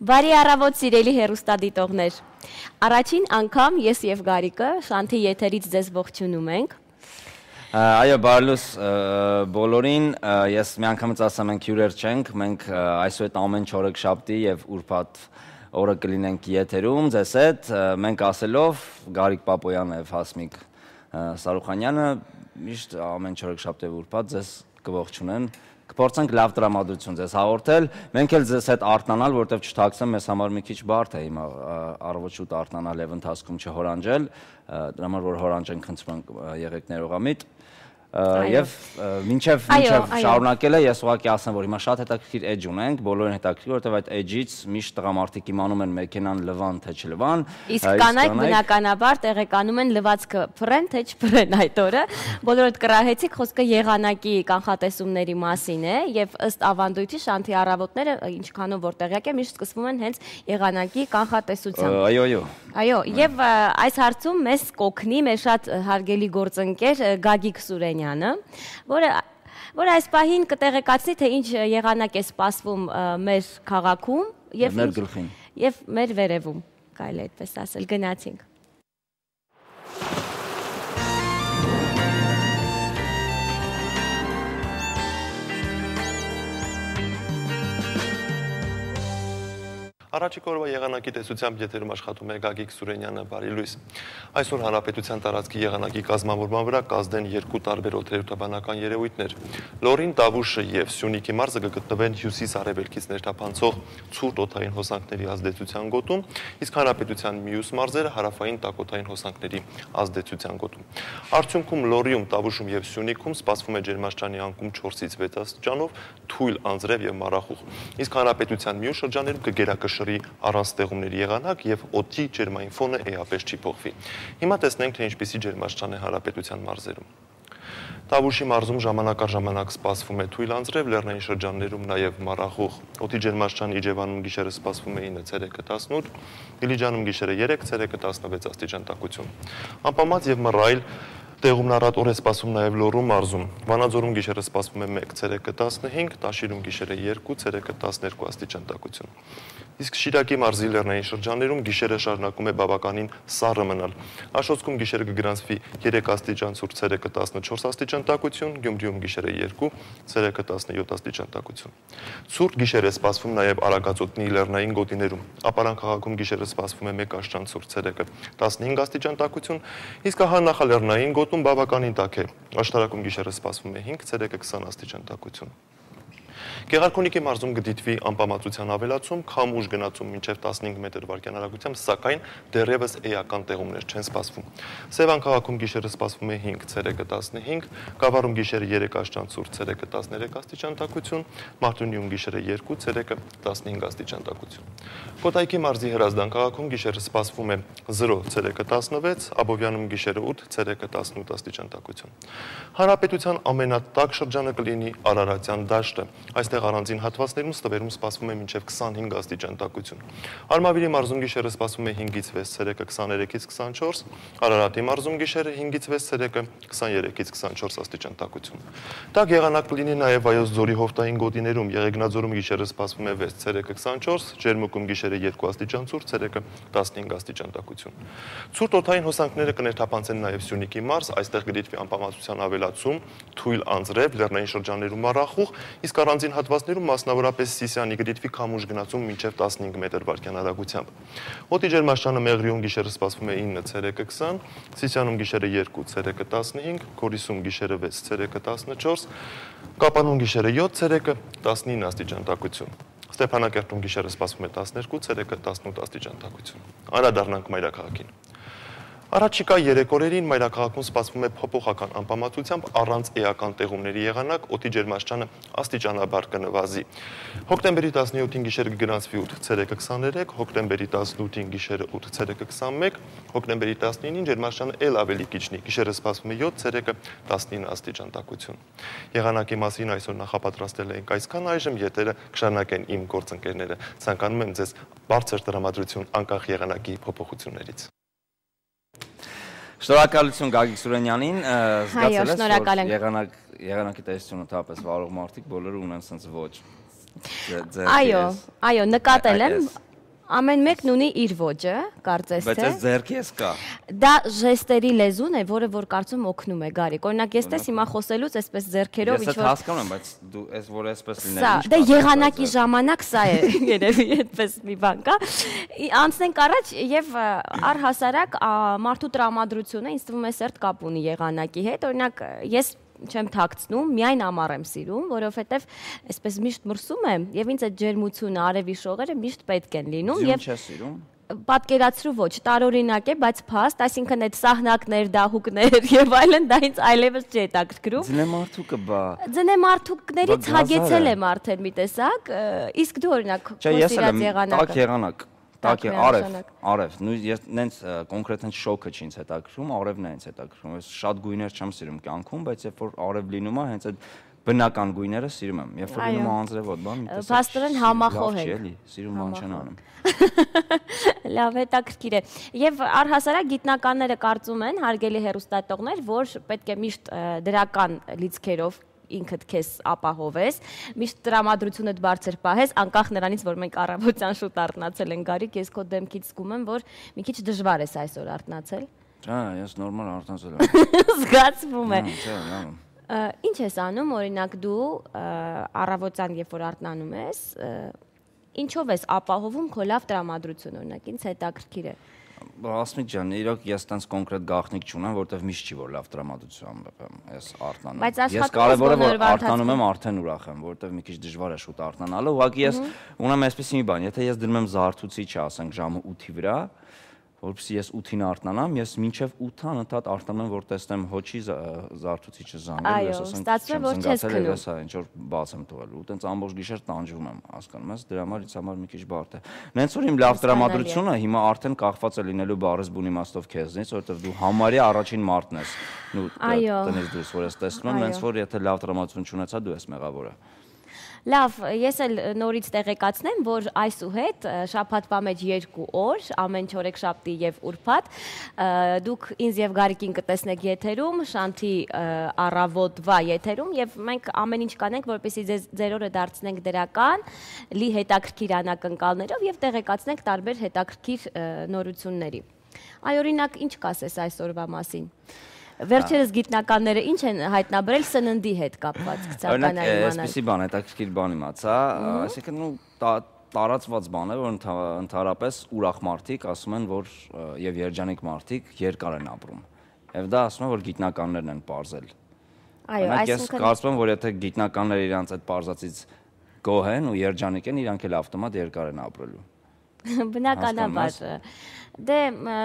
Բարի առավոտ սիրելի հեռուստադիտողներ։ Առաջին անգամ ես եւ Գարիկը Շանթի եթերից ձեզ ողջունում ենք։ Այո, բարլուս բոլորին, ես միանգամից ասեմ ենք հյուրեր չենք, մենք այսուհետ ամեն չորեքշաբթի եւ ուրբաթ օրը կլինենք եթերում, ձեզ հետ, մենք ասելով Գարիկ Պապոյանը եւ Հասմիկ Սարուխանյանը միշտ ամեն չորեքշաբթի եւ ուրբաթ ձեզ կողջունեն։ Կփորձենք լավ տրամադրություն ձեզ հաղորդել, մենք էլ ձեզ հետ արթնանալ, որտեղ չթաքցեմ, մեզ համար մի քիչ բարդ է հիմա առավոտ շուտ արթնանալ եւ ընթացքում չհորանջել, դրա համար որ հորանջենք խնդրում ենք եղեք ներողամիտ։ Եվ մինչև շարունակելը ես ուղղակի ասեմ, որ հիմա շատ հետաքրքիր էջ ունենք, բոլորին հետաքրքիր, որովհետև այդ էջից միշտ տղամարդիկ իմանում են մեքենան լվան թե չլվան։ Իսկ կանայք բնականաբար տեղեկանում են լվացքը փռեն թե չփռեն այդ օրը։ Բոլորդ կռահեցիք, խոսքը եղանակի կանխատեսումների մասին է, եւ ըստ ավանդույթի Շանթի առավոտները ինչքանով որ տեղյակ է, միշտ սկսվում են հենց եղանակի կանխատեսությամբ։ Այո, եւ այս հարցում մեզ կօգնի մեր շատ հարգելի գործընկեր Գագիկ Սուրենյանը, որը այս պահին կտեղեկացնի, թե ինչ եղանակ է սպասվում մեր քաղաքում եւ մեր վերևում, կարելի է այդպես ասել, գնացինք։ Առաջիկ օրվա եղանակի տեսությամբ եթերում աշխատում է Գագիկ Սուրենյանը, բարի լույս։ Այսօր հանրապետության տարածքի եղանակի կազմավորման վրա կազդեն երկու տարբեր օդերևութաբանական երևույթներ։ Լոռին, Տավուշը եւ Սյունիքի մարզը կգտնվեն հյուսիս-արևելքից ներթափանցող ցուրտ օդային հոսանքների ազդեցության գոտում, իսկ հանրապետության մյուս մարզերը հարավային տաքօդային հոսանքների ազդեցության գոտում։ Արդյունքում Լոռիում, Տավուշում եւ Սյունիքում սպասվում է ջերմաստիճանի անկում 4-ից 6 աստիճանով, թույլ անձրև եւ մառախուղ։ Իսկ հանրապետության մյուս շրջաններում կգերակշռի առանց ստեղումների եղանակ եւ օդի ջերմային ֆոնը էապես չի փոխվի։ Հիմա տեսնենք, թե ինչպիսի ջերմաստիճան է հանրապետության մարզերում։ Տավուշի մարզում ժամանակ առ ժամանակ սպասվում է թույլ անձրև, լեռնային շրջաններում նաեւ մառախուղ։ Օդի ջերմաստիճան Իջևանում գիշերը սպասվում է 9, ցերեկը 18, Դիլիջանում գիշերը 3, ցերեկը 16 աստիճան տաքություն։ Անպամած եւ մռայլ տեղումնառատ օր է սպասվում նաև Լոռու մարզում։ Վանաձորում գիշերը սպասվում է 1, ցերեկը 15, Տաշիրում գիշերը 2, ցերեկը 12 աստիճան տաքություն։ Իսկ Շիրակի մարզի լեռնային շրջաններում գիշերը շարունակում է բավականին սառը մնալ։ Աշոտսկում գիշերը կգրանցվի 3 աստիճան ցուրտ, ցերեկը 14 աստիճան տաքություն, Գյումրիում գիշերը 2, ցերեկը 17 աստիճան տաքություն։ Ցուրտ գիշեր է սպասվում նաև Արագածոտնի լեռնային գոտիներում։ Ապարան քաղաքում գիշերը սպասվում է 1 աստիճան ցուրտ, ցերեկը 15 աստիճան տաքություն, իսկ ահա նախալեռնային գոտում բավականին տաք է։ Աշտարակում գիշերը սպասվում է 5, ցերեկը 20 աստիճան տաքություն։ Գեղարքունիքի մարզում կդիտվի անպամացության ավելացում, քամ ուժ գնացում մինչև 15 մետր վայրկյան արագությամբ, սակայն դեռևս էական տեղումներ չեն սպասվում։ Սևան քաղաքում գիշերը սպասվում է 5, ցերեկը 15, Գավառում գիշերը 3 աստիճան ցուրտ, ցերեկը 13 աստիճան տաքություն, Մարտունիում գիշերը 2, ցերեկը 15 աստիճան տաքություն։ Կոտայքի մարզի Հրազդան քաղաքում գիշերը սպասվում է 0, ցերեկը 16, Աբովյանում գիշերը 8, ցերեկը 18 աստիճան տաքություն։ Հանրապետության ամենատաք շրջանը կլինի Արարատյան դաշտը։ Այստեղ առանձին հատվածներում ստվերում սպասվում է մինչև 25 աստիճան տաքություն։ Արմավիրի մարզում գիշերը սպասվում է 5-ից 6, ցերեկը 23-ից 24, Արարատի մարզում գիշերը 5-ից 6, ցերեկը 23-ից 24 աստիճան տաքություն։ Տաք եղանակ կլինի նաև Վայոց ձորի հովտային գոտիներում, Եղեգնաձորում գիշերը սպասվում է 6, ցերեկը 24, Ջերմուկում գիշերը 2 աստիճան ցուրտ, ցերեկը 15 աստիճան տաքություն։ Ցուրտ օդային հոսանքները կներթափանցեն նաև Սյունիքի մարզ, այստեղ կդիտվի անպամացության ավելացում, թույլ անձրև, լեռնային շրջաններում մառախուղ, իսկ առանձին հատվածներում մասնավորապես Սիսիանի կդիտվի քամուշ գնացում մինչև 15 մետր վայրկյան արագությամբ։ Օդի ջերմաստիճանը Մեղրիում գիշերը սպասվում է 9, ցերեկը 20, Սիսիանում գիշերը 2, ցերեկը 15, Գորիսում գիշերը 6, ցերեկը 14, Կապանում գիշերը 7, ցերեկը 19 աստիճան տաքություն։ Ստեփանակերտում գիշերը սպասվում է 12, ցերեկը 18 աստիճան տաքություն։ Անդրադառնանք մայրաքաղաքին։ Առաջիկա 3 օրերին մայրաքաղաքում սպասվում է փոփոխական անպամացությամբ առանց էական տեղումների եղանակ, օդի ջերմաստիճանը աստիճանաբար կնվազի։ Հոկտեմբերի 17-ին գիշերը կգրանցվի 8, ցերեկը 23, հոկտեմբերի 18-ին գիշերը 8, ցերեկը 21, հոկտեմբերի 19-ին ջերմաստիճանը ել ավելի կիչնի, գիշերը սպասվում է 7, ցերեկը 19 աստիճան տաքություն։ Եղանակի մասին այսօր նախապատրաստել ենք այսքան, այժմ եթերը կշարունակեն իմ գործընկերները։ Ցանկանում եմ ձեզ բարձր տրամադրություն անկախ եղանակի փոփոխություններից։ Շնորհակալություն Գագիկ Սուրենյանին, զգացել ես, որ եղանակի տեսությունը թապես վարող մարդիկ բոլորը ունեն սենց ոչ։ Այո, նկատել եմ, Ամեն մեկն ունի իր ոճը, կարծես թե։ Բայց այս ձեռքի էս կա։ Դա ժեստերի լեզուն է, որը որ կարծում օգնում է Գարիկ։ Օրինակ, ես տես հիմա խոսելուց այսպես ձեռքերով ինչ-որ։ Ես հասկանում եմ, բայց դու այս որ այսպես լինել ինչ։ Դե եղանակի ժամանակ սա է, երևի այդպես մի բան կա։ Անցնենք առաջ եւ առհասարակ մարդու տրամադրությունը ինձ թվում է սերտ կապ ունի եղանակի հետ։ Օրինակ, ես չեմ թաքցնում, միայն ամառ եմ սիրում, որովհետև այսպես միշտ մրսում եմ եւ ինձ այդ ջերմությունը, արևի շողերը միշտ պետք են լինում եւ չես սիրում։ Պատկերացրու ոչ, տարօրինակ է, բայց փաստ, այսինքն այդ սահնակներ, դահուկներ եւ այլն դա ինձ այլևս չի հետաքրքրում։ Ձնեմարդուկը բա։ Ձնեմարդուկներից հագեցել եմ արդեն մի տեսակ, իսկ դու օրինակ քո սիրած եղանակը։ Տակ է արև, ես նենց կոնկրետ հենց շոկը չի ինձ հետաքրքրում, արևն է ինձ հետաքրքրում, ես շատ գույներ չեմ սիրում կյանքում, բայց երբ որ արև լինում է, հենց այդ բնական գույները սիրում եմ, երբ որ լինում է անձրևոտ, բան, մի տեսակ փաստորեն համախոհ է, էլի, սիրում բան չեն անում։ Լավ, հետաքրքիր է։ Եվ առհասարակ գիտնականները կարծում են, հարգելի հեռուստատողներ, որ պետք է միշտ դրական լիցքերով ինքդ քեզ ապահովես, միշտ տրամադրությունդ բարձր պահես, անկախ նրանից, որ մենք առավոտյան շուտ արթնացել ենք Գարիկ, ես քո դեմքից զգում եմ, որ մի քիչ դժվար ես այսօր արթնացել։ Հա, ես նորմալ արթնացել եմ։ Զգացվում է։ Չէ, Ինչ ես անում, օրինակ դու առավոտյան, երբ որ արթնանում ես, ինչով ես ապահովում քո լավ տրամադրությունը, օրինակ, ինձ հետաքրքիր է։ Ասմիկ ջան, իրոք ես տենց կոնկրետ գաղտնիք չունեմ, որտեվ միշտ չի որ լավ տրամադրությամբ եմ ես արթնանում։ Ես կարևորը որ արթնանում եմ, արդեն ուրախ եմ, որտեվ մի քիչ դժվար է շուտ արթնանալը, ուղղակի ես ունեմ այսպեսի մի բան, եթե ես դնում եմ զարթուցիչը, ասենք ժամը 8-ի վրա, որպեսզի ես 8-ին արթնանամ, ես մինչև 8-ը անընդհատ արթնանում եմ, որ տեսնեմ հոչի զարթուցիչը զանգել, ես ասենք որ չես քնում, հեսա ինչ որ բաց եմ թողել, ու տենց ամբողջ գիշեր տանջվում եմ, հասկանում ես, դրա համար ինձ համար մի քիչ բարդ է։ Նենց որ իմ լավ տրամադրությունը հիմա արդեն կախված է լինելու բառս բուն իմաստով քեզնից, որովհետև դու համարյա առաջին մարդն ես։ Նու տնից դուրս որ ես տեսնում եմ, նենց որ եթե լավ տրամադրություն չունեցա, դու ես մեղավորը։ Լավ, ես էլ նորից տեղեկացնեմ, որ այսուհետ շաբաթվա մեջ 2 օր, ամեն չորեքշաբթի եւ ուրբաթ, դուք ինձ եւ Գարիկին կտեսնեք եթերում, Շանթի առավոտվա եթերում եւ մենք ամեն ինչ կանենք, որպեսզի ձեր օրը դարձնենք դրական, լի հետաքրքիր անակնկալներով եւ տեղեկացնենք տարբեր հետաքրքիր նորությունների։ Այ օրինակ, ինչ կասես այսօրվա մասին։ Վերջերս գիտնականները ինչ են հայտնաբերել սննդի հետ կապված գծականային իմանալ։ Օրինակ, այսպեսի բան, հետաքրքիր բան իմացա, այսինքն տարածված բան է, որ ընդհանրապես ուրախ մարդիկ ասում են, որ եւ երջանիկ մարդիկ երկար են ապրում։ Եվ դա ասում են, որ գիտնականներն են պարզել։ Այո, այսինքն ես կարծում եմ, որ եթե գիտնականները իրանց այդ պարզածից գոհ են ու երջանիկ են, իրանք էլ ավտոմատ երկար են ապրելու։ Բնականաբար։ Դե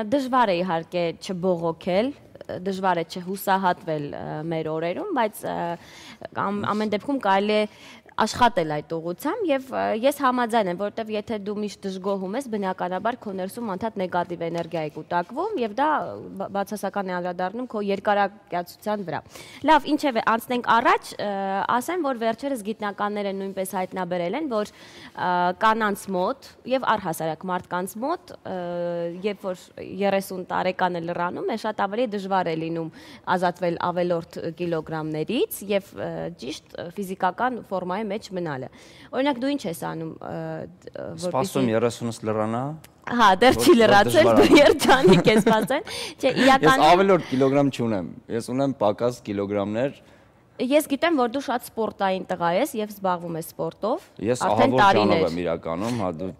դժվար է իհարկե չբողոքել, դժվար է չհուսահատվել մեր օրերում, բայց ամեն դեպքում կարելի է աշխատել այդ ուղղությամբ եւ ես համաձայն եմ, որովհետեւ եթե դու միշտ դժգոհում ես, բնականաբար քո ներսում անդադ նեգատիվ էներգիա է կուտակվում եւ դա բացասական է անդրադառնում քո երկարակյացության վրա։ Լավ, ինչեւ է, անցնենք առաջ, ասեմ, որ վերջերս գիտնականները նույնպես հայտնաբերել են, որ կանանց մոտ եւ առհասարակ մարդկանց մոտ, երբ որ 30 տարեկանը լրանում է, շատ ավելի դժվար է լինում ազատվել ավելորդ կիլոգրամներից եւ ճիշտ ֆիզիկական ֆորմայի մեջ մնալը։ Օրինակ դու ինչ ես անում, որպեսզի սպասում 30-ից լրանա։ Հա, դեռ չի լրացել, դու երջանիկ ես ասեն։ Չէ, իրականում ես ավելորդ կիլոգրամ չունեմ։ Ես ունեմ պակաս կիլոգրամներ։ Ես գիտեմ, որ դու շատ սպորտային տղա ես եւ զբաղվում ես սպորտով։ Ես ահավոր եմ իրականում, հա դու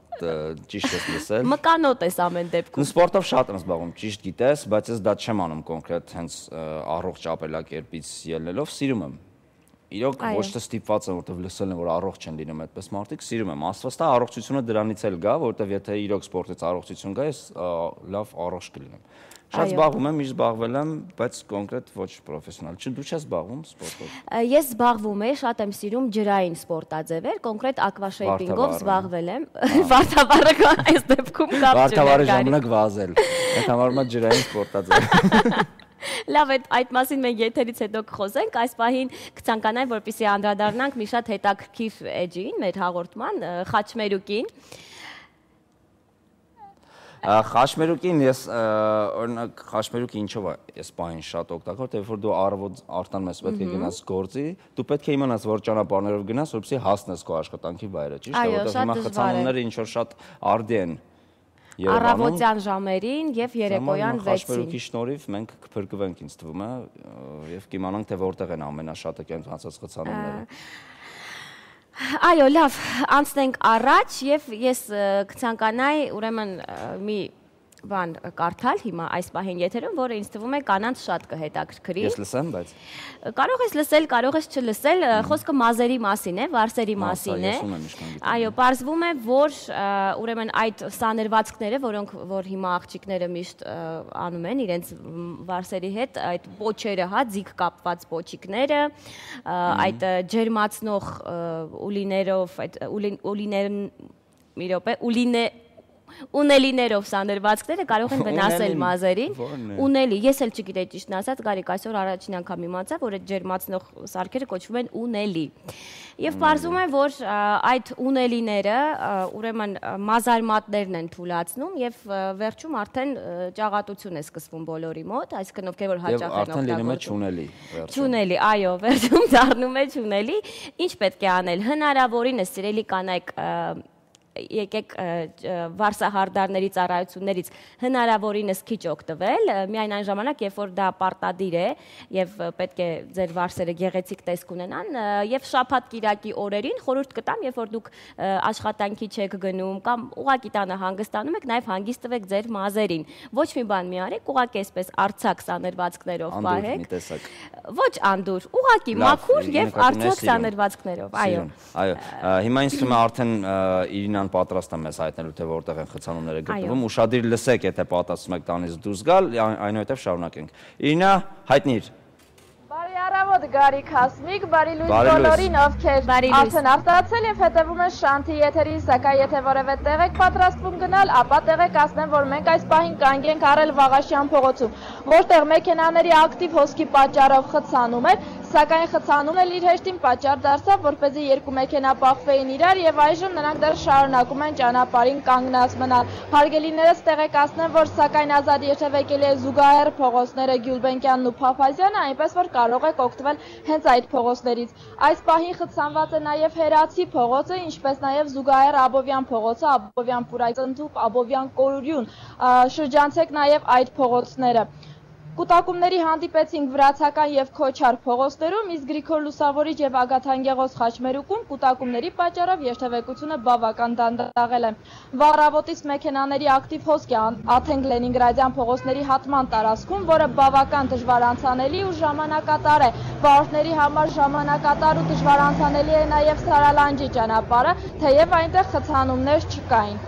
ճիշտ ես լսել։ Մկանոտ ես ամեն դեպքում։ Սպորտով շատ եմ զբաղվում, ճիշտ գիտես, բայց ես դա չեմ անում կոնկրետ հենց առողջ ապրելակերպից ելնելով, սիրում եմ։ Իրոք ոչ թե ստիպված եմ, որովհետև լսել եմ, որ առողջ են լինում այդպես մարդիկ, սիրում եմ։ Աստված տա առողջությունը դրանից էլ գա, որովհետև եթե իրոք սպորտից առողջություն գա, ես լավ առողջ կլինեմ։ Շատ զբաղվում եմ, միշտ զբաղվել եմ, բայց կոնկրետ ոչ պրոֆեսիոնալ։ Դու չես զբաղվում սպորտով։ Ես զբաղվում եմ, շատ եմ սիրում ջրային սպորտաձևեր, կոնկրետ ակվաշեյփինգով զբաղվել եմ։ Վարդավառը այս դեպքում կապ չունի։ Վարդավառի ժամանակ վազել։ Այդ համարվում է ջրային սպորտաձև։ Լավ, այդ մասին մենք եթերից հետո կխոսենք, այս պահին կցանկանայի, որպեսզի անդրադառնանք մի շատ հետաքրքիր էջին, մեր հաղորդման, խաչմերուկին։ Խաչմերուկին ես օրինակ խաչմերուկը ինչով է ես պահին շատ օգտակար, որտեղ որ դու առավոտ արտանում ես, պետք է գնաս գործի, դու պետք է իմանաս որ ճանապարհներով գնաս, որպեսզի հասնես քո աշխատանքի վայրը, ճիշտ է, որտեղ հիմա խցանումները ինչ որ շատ արդի են Առավոտյան ժամերին եւ երեկոյան 6-ին։ Հաշվերուկի շնորհիվ մենք կփրկվենք, ինձ թվում է, եւ կիմանանք թե որտեղ են ամենաշատը կենտրոնացած խցանումները։ Այո, լավ, անցնենք առաջ եւ ես կցանկանայի ուրեմն մի բան կարդալ հիմա այս պահին եթերում, որը ինձ թվում է կանանց շատ կհետաքրքրի։ Ես լսեմ, բայց կարող ես լսել, կարող ես չլսել, խոսքը մազերի մասին է, վարսերի մասին է։ Այո, պարզվում է, որ ուրեմն այդ սաներվածքները, որ հիմա աղջիկները միշտ անում են իրենց վարսերի հետ, այդ պոչերը, հա, ձիգ կապված պոչիկները, այդ ջերմացնող ուլիներով, այդ ունելիներով սաներվածքները կարող են վնասել մազերին։ Ունելի, ես էլ չգիտեի ճիշտն ասած, Գարիկ այսօր առաջին անգամ իմացա, որ այդ ջերմացնող սարքերը կոչվում են ունելի։ Եվ պարզվում է, որ այդ ունելիները ուրեմն մազարմատներն են թուլացնում եւ վերջում արդեն ճաղատություն է սկսվում բոլորի մոտ, այսինքն ովքեր որ հաճախ են օգտագործում։ Չունելի, այո, վերջում դառնում է չունելի։ Ինչ պետք է անել։ Հնարավորինս սիրելի կանայք եկեք վարսահարդարների ծառայություններից հնարավորինս քիչ օգտվել, միայն այն ժամանակ, երբ որ դա պարտադիր է եւ պետք է ձեր վարսերը գեղեցիկ տեսք ունենան, եւ շաբաթ-կիրակի օրերին խորհուրդ կտամ, երբ որ դուք աշխատանքի չեք գնում կամ ուղակի տանը հանգստանում եք, նաեւ հանգիստ տվեք ձեր մազերին։ Ոչ մի բան մի արեք, ուղակի այսպես արցակ սաներվածքներով պահեք։ Ոչ անդուր, ուղակի մաքուր եւ արցակ սաներվածքներով, այո։ Այո, հիմա ինձ թվում է արդեն Իրինան պատրաստ է մեզ հայտնելու, թե որտեղ են խցանումները գտնվում, ուշադիր լսեք, եթե պատասխանում եք տանից դուրս գալ, այնուհետև շարունակենք։ Իրինա, հայտնիր։ Բարի առավոտ, Գարիկ Հասմիկ, բարի լույս բոլորին, ովքեր արդեն արտացել եւ հետեւում են Շանթի եթերին, սակայն եթե որևէ տեղ եք պատրաստվում գնալ, ապա տեղեք ասեմ, որ մենք այս պահին կանգ ենք առել Վաղաշյան փողոցում, որտեղ մեքենաների ակտիվ հոսքի պատճառով խցանում էր, սակայն խցանումն էլ իր հեշտին պատճառ դարձավ, որպեսզի երկու մեքենա բախվեին իրար եւ այժմ նրանք դեռ շարունակում են ճանապարհին կանգնած մնալ։ Հարգելիներս տեղեկացնեմ, որ սակայն ազատ երթևեկելի է զուգահեռ փողոցները Գյուլբենկյանն ու Փափազյանը, այնպես որ կարող եք օգտվել հենց այդ փողոցներից։ Այս պահին խցանված է նաեւ Հերացի փողոցը, ինչպես նաեւ զուգահեռ Աբովյան փողոցը, Աբովյան Պուրայցնթուփ, Աբովյան Կորուրյուն, շրջանցեք նաեւ այդ փողոցները։ Կուտակումների հանդիպեցինք Վրացական եւ Քոչար փողոցներում, իսկ Գրիգոր Լուսավորիչ եւ Ագաթանգեղոս Խաչմերուկում կուտակումների պատճառով երթևեկությունը բավական դանդաղել է։ Վառավոտից մեքենաների ակտիվ հոսք է Աթենք Լենինգրադյան փողոցների հատման տարածքում, որը բավական դժվար անցանելի ու ժամանակատար է։ Վարորդների համար ժամանակատար ու դժվար անցանելի է նաեւ Սարալանջի ճանապարհը, թեև այնտեղ խցանումներ չկային։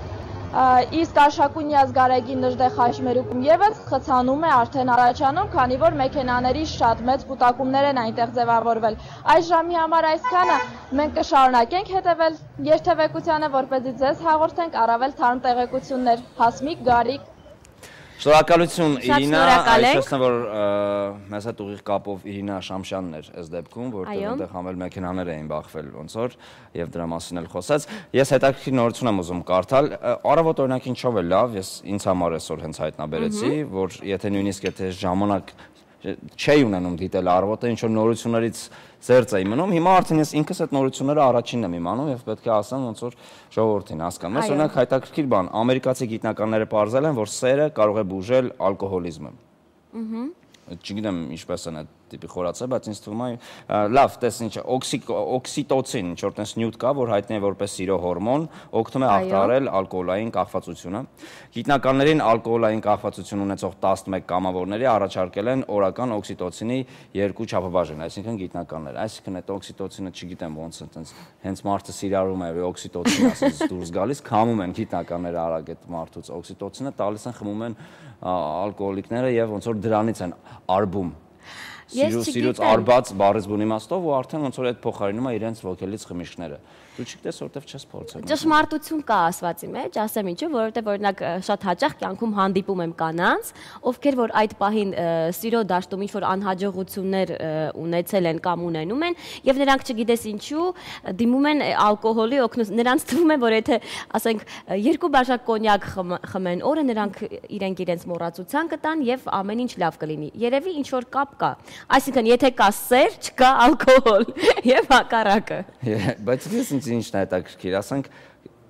Իսկ Արշակունյաց Գարեգին Նժդե Խաչմերուկում եւս խցանում է արդեն առաջանում, քանի որ մեքենաների շատ մեծ կուտակումներ են այնտեղ ձևավորվել։ Այս ժամի համար այսքանը, մենք կշարունակենք հետևել երթևեկությանը, որպեսզի ձեզ հաղորդենք առավել թարմ տեղեկություններ։ Հասմիկ, Գարիկ։ Շնորհակալություն Իրինա, այսինքն որ մեզ հետ ուղիղ կապով Իրինա Շամշյանն էր այս դեպքում, որտեղ այնտեղ համել մեքենաներ էին բախվել ոնց որ եւ դրա մասին էլ խոսած։ Ես հետաքրքիր նորություն եմ ուզում կարդալ։ Առավոտ օրինակ ինչով է լավ, ես ինձ համար այսօր հենց հայտնաբերեցի, որ եթե նույնիսկ եթե ժամանակ չէի ունենում դիտել առավոտը, ինչ որ նորություններից ծերծ էի մնում, հիմա արդեն ես ինքս այդ նորությունները առաջինն եմ իմանում եւ պետք է ասեմ ոնց որ ժողովրդին հասկանում։ Ես օրինակ հետաքրքիր բան, ամերիկացի գիտնականները պարզել են, որ սերը կարող է բուժել ալկոհոլիզմը։ Չգիտեմ ինչպես են այդ տիպի խորացել, բայց ինձ թվում է լավ, տես ինչ օքսիտոցին, ինչ որ տես նյութ կա, որ հայտնի է որպես սիրո հորմոն, օգնում է ախտարել ալկոհոլային կախվածությունը։ Գիտնականներին ալկոհոլային կախվածություն ունեցող 11 կամավորների առաջարկել են օրական օքսիտոցինի 2 չափաբաժին, այսինքն գիտնականներ։ Այսինքն այդ օքսիտոցինը չգիտեմ ոնց է, տենց հենց մարդը սիրարում է օքսիտոցին ասես դուրս գալիս, քամում են գիտնականները արագ այդ մարդուց օքսիտոցինը, տալիս են, խմում են ալկոհոլիկները եւ ոնց որ դրանից են արբում սիրուց արբած բառից բուն իմաստով ու արդեն ոնց որ այդ փոխարինում է իրենց ոգելից խմիչքները։ Դու չգիտես որտեվ չես փորձել։ Ճշմարտություն կա ասվածի մեջ, ասեմ ինչու, որովհետև օրինակ շատ հաճախ կյանքում հանդիպում եմ կանանց, ովքեր որ այդ պահին սիրո դաշտում ինչ որ անհաջողություններ ունեցել են կամ ունենում են, եւ նրանք չգիտես ինչու դիմում են ալկոհոլի օգնություն։ Նրանց թվում է, որ եթե ասենք 2 բաժակ կոնյակ խմեն օրը, նրանք իրենց մոռացության կտան եւ ամեն ինչ լավ կլինի։ Երևի ինչ որ կապ կա։ Այսինքն եթե կա սեր, չկա ալկոհոլ եւ հակառակը։ Բայց ինչն է հետաքրքիր, ասենք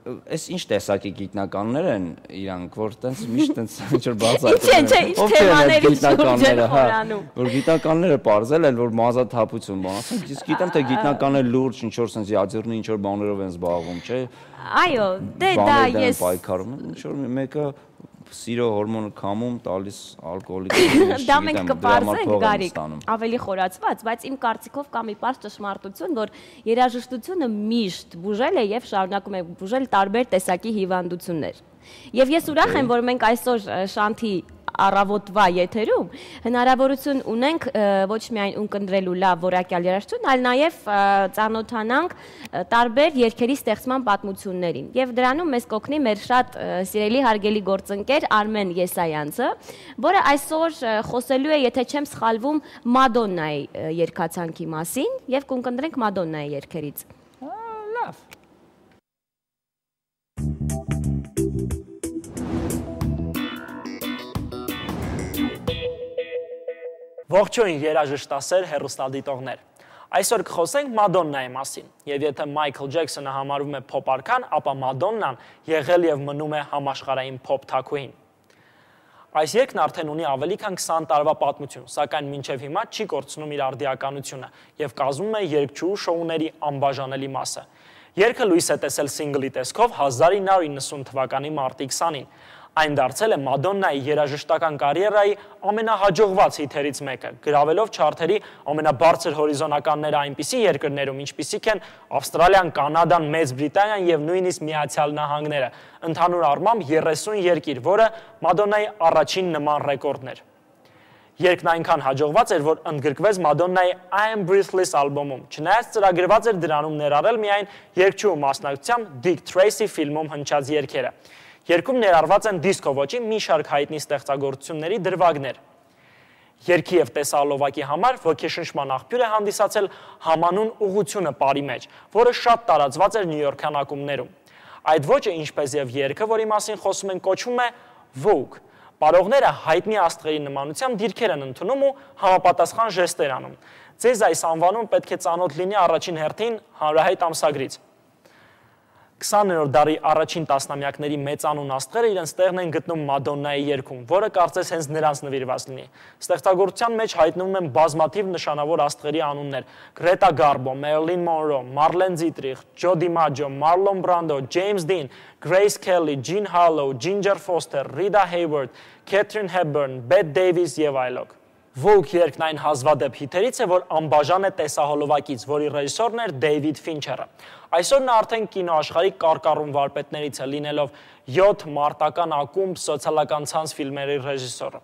Այս ինչ տեսակի գիտնականներ են իրանք, որ տենց միշտ տենց ինչ-որ բացառ։ Ինչ թեմաների շուրջ են խորանում։ Որ գիտնականները պարզել են, որ մազաթափություն բան, ասենք իսկ գիտեմ թե գիտնականները լուրջ ինչ-որ sense յադերնի ինչ-որ բաներով են զբաղվում, չէ։ Այո, դե դա ես պայքարում եմ, ինչ-որ մեկը սիրո հորմոնը կամում տալիս ալկոհոլիկ։ Դա մենք կպարզենք Գարիկ, ավելի խորացված, բայց իմ կարծիքով կա մի պարզ ճշմարտություն, որ երաժշտությունը միշտ բուժել է եւ շարունակում է բուժել տարբեր տեսակի հիվանդություններ։ Եվ ես ուրախ եմ, որ մենք այսօր Շանթի առավոտվա եթերում հնարավորություն ունենք ոչ միայն ունկնդրելու լավ որակյալ երաժշտություն, այլ նաև ծանոթանանք տարբեր երգերի ստեղծման պատմություններին։ Եվ դրանում մեզ կօգնի մեր շատ սիրելի հարգելի գործընկեր Արմեն Եսայանցը, որը այսօր խոսելու է, եթե չեմ սխալվում, Մադոննայի երգացանկի մասին եւ կունկնդրենք Մադոննայի երգերից։ Լավ։ Ողջույն երաժշտասեր հեռուստադիտողներ։ Այսօր կխոսենք Մադոննայի մասին, եւ եթե Մայքլ Ջեքսոնը համարվում է փոփ արքան, ապա Մադոննան եղել եւ մնում է համաշխարհային փոփ թագուհին։ Այս երգն արդեն ունի ավելի քան 20 տարվա պատմություն, սակայն մինչև հիմա չի կորցնում իր արդիականությունը եւ կազմում է երգչուհու շոուների անբաժանելի մասը։ Երգը լույս է տեսել սինգլի տեսքով 1990 թվականի մարտի 20-ին։ Այն դարձել է Մադոննայի երաժշտական կարիերայի ամենահաջողված հիթերից մեկը, գրավելով չարթերի ամենաբարձր հորիզոնականները այնպիսի երկրներում, ինչպիսիք են Ավստրալիան, Կանադան, Մեծ Բրիտանիան եւ նույնիսկ Միացյալ Նահանգները, ընդհանուր առմամբ 30 երկիր, որը Մադոննայի առաջին նման ռեկորդն էր։ Երգն այնքան հաջողված էր, որ ընդգրկվեց Մադոննայի I Am Breathless ալբոմում, չնայած ծրագրված էր դրանում ներառել միայն երգչուհու մասնակցությամբ Dick Tracy ֆիլմում հնչած երգերը։ Երգում ներառված են դիսկո ոճի մի շարք հայտնի ստեղծագործությունների դրվագներ։ Երգի եւ տեսահոլովակի համար ոգեշնչման աղբյուր է հանդիսացել համանուն ուղղությունը բարի մեջ, որը շատ տարածված էր նյույորքյան ակումբներում։ Այդ ոճը, ինչպես եւ երգը, որի մասին խոսում են, կոչվում է Vogue։ Պարողները հայտնի աստղերի նմանությամբ դիրքեր են ընդունում ու համապատասխան ժեստեր անում։ Ձեզ այս անվանում պետք է ծանոթ լինի առաջին հերթին հանրահայտ ամսագրից։ 20-րդ դարի առաջին տասնամյակների մեծանուն աստղերը իրենց տեղն են գտնում Մադոննայի երգում, որը կարծես հենց նրանց նվիրված լինի։ Ստեղծագործության մեջ հայտնվում են բազմաթիվ նշանավոր աստղերի անուններ՝ Գրետա Գարբո, Մերլին Մոնրո, Մարլեն Դիտրիխ, Ջո Դիմաջո, Մարլոն Բրանդո, Ջեյմս Դին, Գրեյս Քելի, Ջին Հարլոու, Ջինջեր Ֆոստեր, Ռիդա Հեյվարդ, Քեթրին Հեբբըրն, Բեթ Դեյվիս եւ այլոք։ Vogue երգն այն հազվադեպ հիթերից է, որ անբաժան է տեսահոլովակից, որի ռեժիսորն էր Դեյվիդ Ֆինչերը։ Այսօր նա արդեն կինոաշխարհի կարկառուն վարպետներից է, լինելով 7 մարտական ակումբ սոցիալական ցանց ֆիլմերի ռեժիսորը։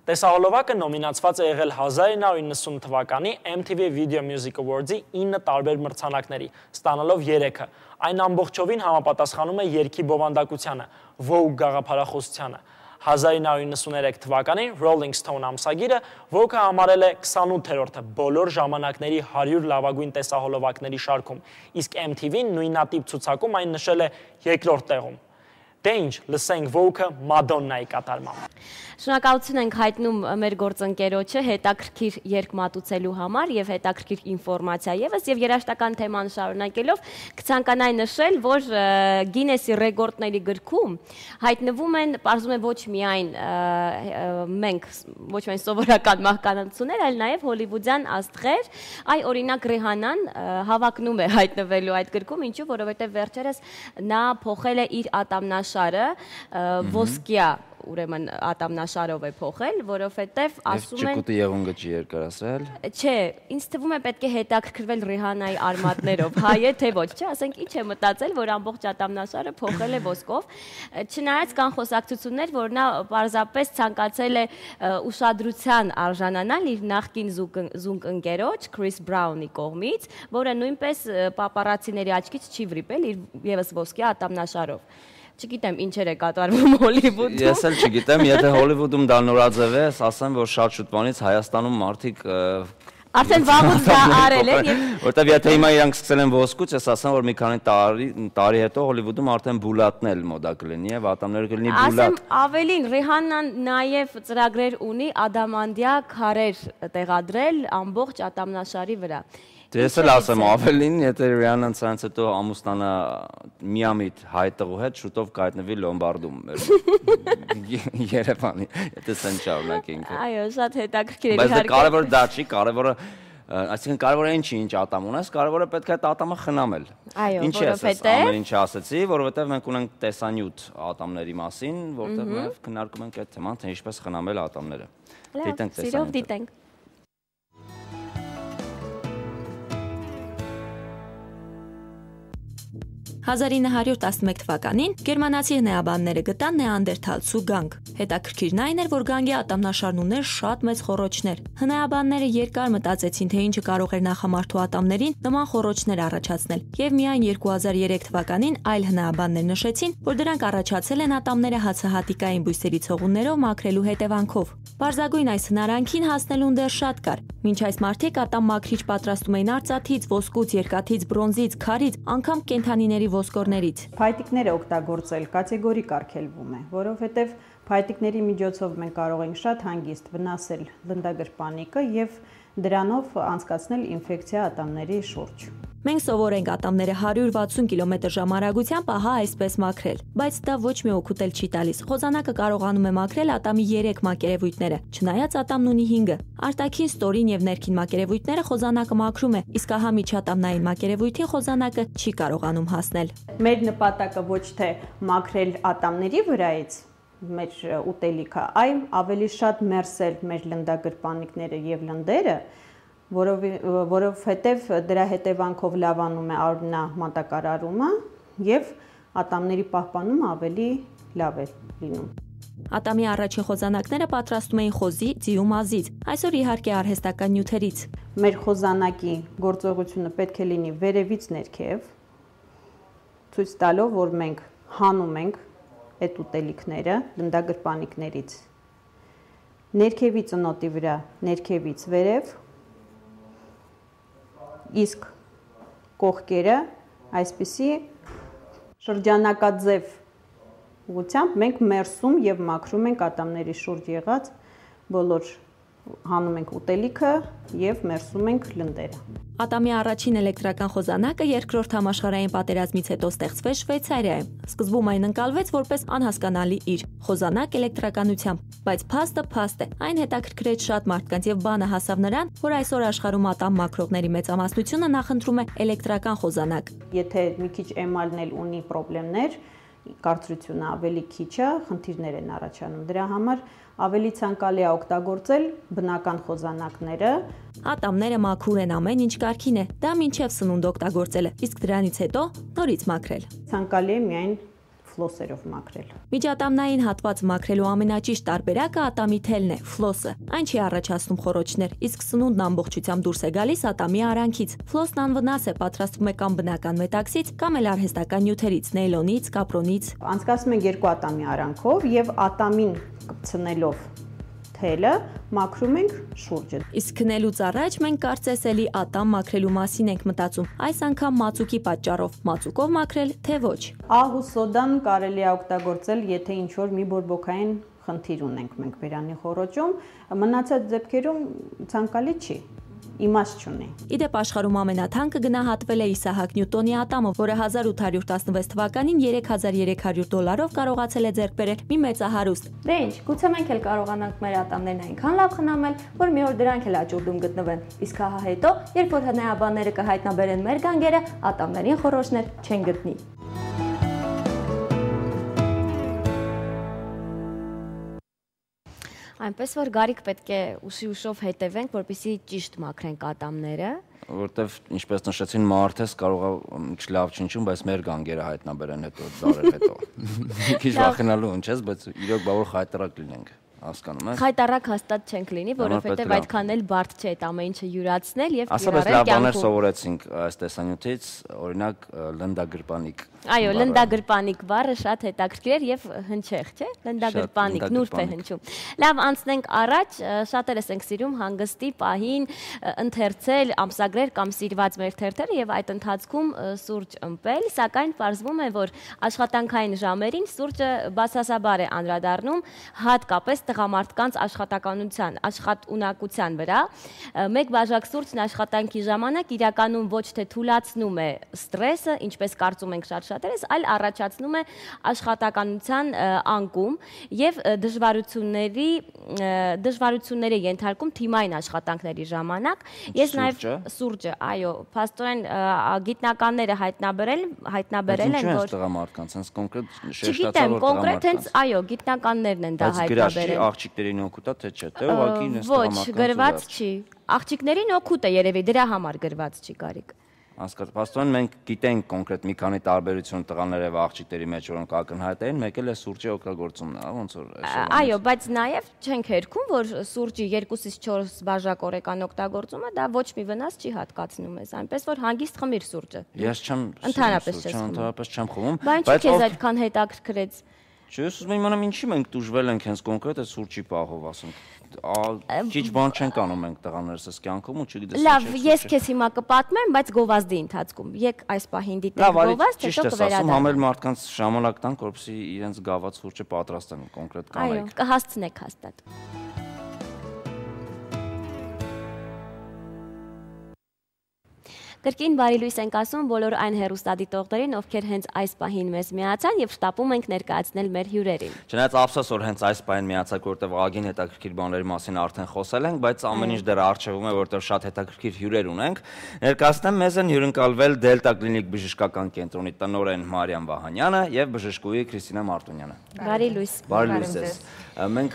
Տեսահոլովակը նոմինացված է եղել 1990 թվականի MTV Video Music Awards-ի 9 տարբեր մրցանակների, ստանալով 3-ը։ Այն ամբողջովին համապատասխանում է երգի բովանդակությանը, Vogue գաղափարախոսությանը։ 1993 թվականին Rolling Stone ամսագիրը Vogue-ը համարել է 28-րդը բոլոր ժամանակների 100 լավագույն տեսահոլովակների շարքում, իսկ MTV-ն նույնատիպ ցուցակում այն նշել է 2-րդ տեղում։ Դե ինչ, լսենք Vogue-ը Մադոննայի կատարմամբ։ Շնորհակալություն ենք հայտնում մեր գործընկերոջը հետաքրքիր երգ մատուցելու համար եւ հետաքրքիր ինֆորմացիա եւս եւ երաժշտական թեման շարունակելով կցանկանայի նշել, որ Գինեսի ռեկորդների գրքում հայտնվում են, պարզում է ոչ միայն մենք, ոչ միայն սովորական մահկանացուներ, այլ նաեւ հոլիվուդյան աստղեր, այ օրինակ Ռիհանան հավակնում է հայտնվելու այդ գրքում, ինչու, որովհետեւ վերջերս նա փոխել է իր ատամնաշարը ոսկյա ուրեմն ատամնաշարով է փոխել, որովհետև ասում են Ճկուտի եղունգը չի երկարացրել։ Չէ, ինձ թվում է պետք է հետաքրքրվել Ռիհանայի արմատներով, հայ է թե ոչ, չէ, ասենք ինչ է մտածել, որ ամբողջ ատամնաշարը փոխել է ոսկով, չնայած կան խոսակցություններ, որ նա պարզապես ցանկացել է ուշադրության արժանանալ իր նախկին զունգընկերոջ Քրիս Բրաունի կողմից, որը նույնպես պապարացիների աչքից չի վրիպել իր եւս ոսկյա ատամնաշարով։ Չգիտեմ ինչեր է կատարվում Հոլիվուդում։ Ես էլ չգիտեմ, եթե Հոլիվուդում դա նորաձև է, ասեմ, որ շատ շուտվանից Հայաստանում մարդիկ արդեն վաղուց դա արել են եւ որտեվ եթե հիմա իրանք սկսել են ոսկուց, ես ասեմ, որ մի քանի տարի հետո Հոլիվուդում արդեն բուլատն էլ մոդա կլինի եւ ատամները կլինի բուլատ։ Ասեմ ավելին, Ռիհանան նաեւ ծրագրեր ունի ադամանդյա քարեր տեղադրել ամբողջ ատամնաշարի վրա։ Ես էլ ասեմ ավելին, եթե Ռիանան ցանց հետո ամուսնանա միամիտ հայտեղու հետ, շուտով կայտնվի Լոմբարդում Երևանի, եթե սեն շարունակենք։ Այո, շատ հետաքրքիր է իհարկե։ Բայց կարևորը դա չի, կարևորը այսինքն կարևորը ինչ ատամ ունես, կարևորը պետք է այդ ատամը խնամել։ Այո, Ինչ ես ամեն ինչ ասեցի, որովհետև մենք ունենք տեսանյութ ատամների մասին, որտեղ նաև քննարկում ենք այդ թեման, թե ինչպես խնամել ատամները։ Դիտենք տեսանյութը։ Սիրով դիտենք։ 1911 թվականին գերմանացի հնեաբանները գտան նեանդերթալ ցուգանգ։ Հետաքրքիրն այն էր, որ գանգի ատամնաշարն ուներ շատ մեծ խոռոչներ։ Հնեաբանները երկար մտածեցին, թե ինչը կարող էր նախամարդու ատամներին նման խոռոչներ առաջացնել, եւ միայն 2003 թվականին այլ հնեաբաններ նշեցին, որ դրանք առաջացել են ատամները հացահատիկային բույսերի ցողուններով մաքրելու հետևանքով։ Պարզագույն այս հնարանքին հասնելուն դեռ շատ կար։ Մինչ այս մարդիկ ատամ մաքրիչ պատրաստում էին արծաթից, ոսկուց, երկաթից, բրոնզից, քարից, անգամ կենդանիների ոսկորներից։ Փայտիկները օգտագործել կատեգորիկ արգելվում է, որովհետև փայտիկների միջոցով մենք կարող ենք շատ հանգիստ վնասել լնդագրպանիկը եւ դրանով անցկացնել ինֆեկցիա ատամների շուրջ։ Մենք սովոր ենք ատամները 160 կմ/ժ արագությամբ ահա այսպես մաքրել, բայց դա ոչ մի օգուտ չի տալիս։ Խոզանակը կարողանում է մաքրել ատամի 3 մակերևույթները, չնայած ատամն ունի 5-ը։ Արտաքին, ստորին եւ ներքին մակերևույթները խոզանակը մաքրում է, իսկ ահա միջատամնային մակերևույթին խոզանակը չի կարողանում հասնել։ Մեր նպատակը ոչ թե մաքրել ատամների վրայից մեր ուտելիքը, այլ ավելի շատ մերսել մեր լնդագրպանիկները եւ լնդերը, որովհետև դրա հետևանքով լավանում է արյունամատակարարումը եւ ատամների պահպանումը ավելի լավ է լինում։ Ատամի առաջին խոզանակները պատրաստում էին խոզի, ձիու մազից, այսօր իհարկե արհեստական նյութերից։ Մեր խոզանակի գործողությունը պետք է լինի վերևից ներքև, ցույց տալով, որ մենք հանում ենք այդ ուտելիքները լնդագրպանիկներից։ Ներքևի ծնոտի վրա, ներքևից վերև, իսկ կողքերը այսպիսի շրջանակաձև ուղղությամբ մենք մերսում եւ մաքրում ենք ատամների շուրջ եղած բոլոր հանում ենք ուտելիքը եւ մերսում ենք լնդերը։ Ատամի առաջին էլեկտրական խոզանակը Երկրորդ համաշխարհային պատերազմից հետո ստեղծվեց Շվեյցարիայում։ Սկզբում այն ընկալվեց որպես անհասկանալի իր խոզանակ էլեկտրականությամբ, բայց փաստը է։ Այն հետաքրքրեց շատ մարդկանց եւ բանը հասավ նրան, որ այսօր աշխարհում ատամ մաքրողների մեծամասնությունը նախընտրում է էլեկտրական խոզանակ։ Եթե մի քիչ էմալն էլ ունի խնդիրներ, կարծրությունը ավելի քիչ է, խնդիրներ են առաջանում։ Դրա համար ավելի ցանկալի է օգտագործել բնական խոզանակները։ Ատամները մաքուր են, ամեն ինչ կարգին է։ Դա մինչև սնունդ օգտագործելը, իսկ դրանից հետո նորից մաքրել։ Ցանկալի է միայն ֆլոսերով մաքրել։ Միջատամնային հատված մաքրելու ամենաճիշտ տարբերակը ատամի թելն է, ֆլոսը։ Այն չի առաջացնում խոռոչներ, իսկ սնունդն ամբողջությամբ դուրս է գալիս ատամի արանքից։ Ֆլոսն անվնաս է, պատրաստվում է կամ բնական մետաքսից, կամ էլ արհեստական նյութերից, նեյլոնից, կապրոնից։ Անցկացնում ենք 2 ատամի արանքով եւ ատամին կպցնելով թելը մաքրում ենք շուրջը։ Իսկ քնելուց առաջ մենք կարծես էլի ատամ մաքրելու մասին ենք մտածում, այս անգամ մածուկի պատճառով, մածուկով մաքրել, թե ոչ։ Աղ ու սոդան կարելի է օգտագործել, եթե ինչ-որ մի բորբոքային խնդիր ունենք մենք բերանի խոռոչում, մնացած դեպքերում ցանկալի չի։ Իմաստ չունի։ Իդեպ աշխարհում ամենաթանկը գնահատվել է Իսահակ Նյուտոնի ատամը, որը 1816 թվականին $3300 կարողացել է ձեռք բերել մի մեծահարուստ։ Դե ինչ, գուցե մենք էլ կարողանանք մեր ատամներն այնքան լավ խնամել, որ մի օր դրանք էլ աճուրդում գտնվեն։ Իսկ հա հետո, երբ որ հնեաբանները կհայտնաբերեն մեր գանգերը, ատամներին խոռոչներ չեն գտնի։ Այնպես որ Գարիկ պետք է ուշով հետևենք, որպեսզի ճիշտ մաքրենք ատամները, որտեվ ինչպես նշեցին, մարդես կարող է ինչ լավ չնչում, բայց մեր գանգերը հայտնաբերեն հետո դարեր հետո։ Մի քիչ վախենալու ինչ ես, բայց իրոք բավարար խայտարակ լինենք, հասկանում եք։ Խայտարակ հաստատ չենք լինի, որովհետև այդքան էլ բարդ չէ այդ ամեն ինչը յուրացնել եւ կիրառել կյանքում։ Ասես լավ բաներ սովորեցինք այս տեսանյութից, օրինակ լնդագրպանիկ։ Այո, լնդագրպանիկ բառը շատ հետաքրքիր էր եւ հնչեղ, չէ՞։ Լնդագրպանիկ, նուրբ է հնչում։ Լավ, անցնենք առաջ, շատերս ենք սիրում հանգստի պահին ընթերցել, ամսագրեր կամ սիրված մեր թերթերը եւ այդ ընթացքում սուրճ ըմպել, սակայն պարզվում է, որ աշխատանքային ժամերին սուրճը բացասաբար է անդրադառնում, հատկապես տղամարդկանց աշխատունակության վրա։ Մեկ բաժակ սուրճն աշխատանքի ժամանակ իրականում ոչ թե թուլացնում է ստրեսը, ինչպես կարծում ենք շատ շատերս, այլ առաջացնում է աշխատականության անկում եւ դժվարությունների ենթարկում թիմային աշխատանքների ժամանակ։ Ես նաեւ սուրճը, այո, փաստորեն գիտնականները հայտնաբերել են, որ տղամարդկանց հենց կոնկրետ շեշտացավ որ կոնկրետ հենց այո, գիտնականներն են դա հայտնաբերել։ Աղջիկներին օգուտ է թե չէ, թե ուղղակի նես տղամարդկանց։ Ոչ, գրված չի։ Աղջիկներին օգուտ է երևի, դրա համար գրված չի Գարիկ։ Հասկացա, փաստորեն մենք գիտենք կոնկրետ մի քանի տարբերություն տղաների եւ աղջիկների մեջ, որոնք ակնհայտ են, մեկ էլ է սուրճի օգտագործումն է, ոնց որ այսօր։ Այո, բայց նաեւ չենք հերքում, որ սուրճի 2-ից 4 բաժակ օրական օգտագործումը դա ոչ մի վնաս չի հատկացնում ես, այնպես որ հանգիստ խմիր սուրճը։ Ես չեմ ընդհանրապես չեմ խմում, բայց քեզ այդքան հետաքրքրեց։ Չէ, ես ուզում եմ իմանամ ինչի մենք դժվել ենք հենց կոնկրետ այդ սուրճի պահով, ասենք։ Ճիչ բան չենք անում մենք տղաներս այս կյանքում ու չգիտես ինչ։ Լավ, ես քեզ հիմա կպատմեմ, բայց գովազդի ընթացքում։ Եկ այս պահին դիտենք գովազդ, հետո կվերադառնանք։ Համել մարդկանց ժամանակ տանք, որպեսզի իրենց գաված սուրճը պատրաստեն կոնկրետ կանայք։ Այո, կհասցնեք հաստատ։ Կրկին բարի լույս ենք ասում բոլոր այն հեռուստադիտողներին, ովքեր հենց այս պահին մեզ միացան եւ շտապում ենք ներկայացնել մեր հյուրերին։ Չնայած ափսոս որ հենց այս պահին միացաք, որտեղ աղագին հետաքրքիր բաների մասին արդեն խոսել ենք, բայց ամեն ինչ դեռ արժևում է, որտեղ շատ հետաքրքիր հյուրեր ունենք։ Ներկայացնեմ մեզ են հյուրընկալվել Դելտա կլինիկ բժշկական կենտրոնի տնօրեն Մարիամ Վահանյանը եւ բժշկուհի Քրիստինա Մարտունյանը։ Բարի լույս։ Բարի լույս։ Մենք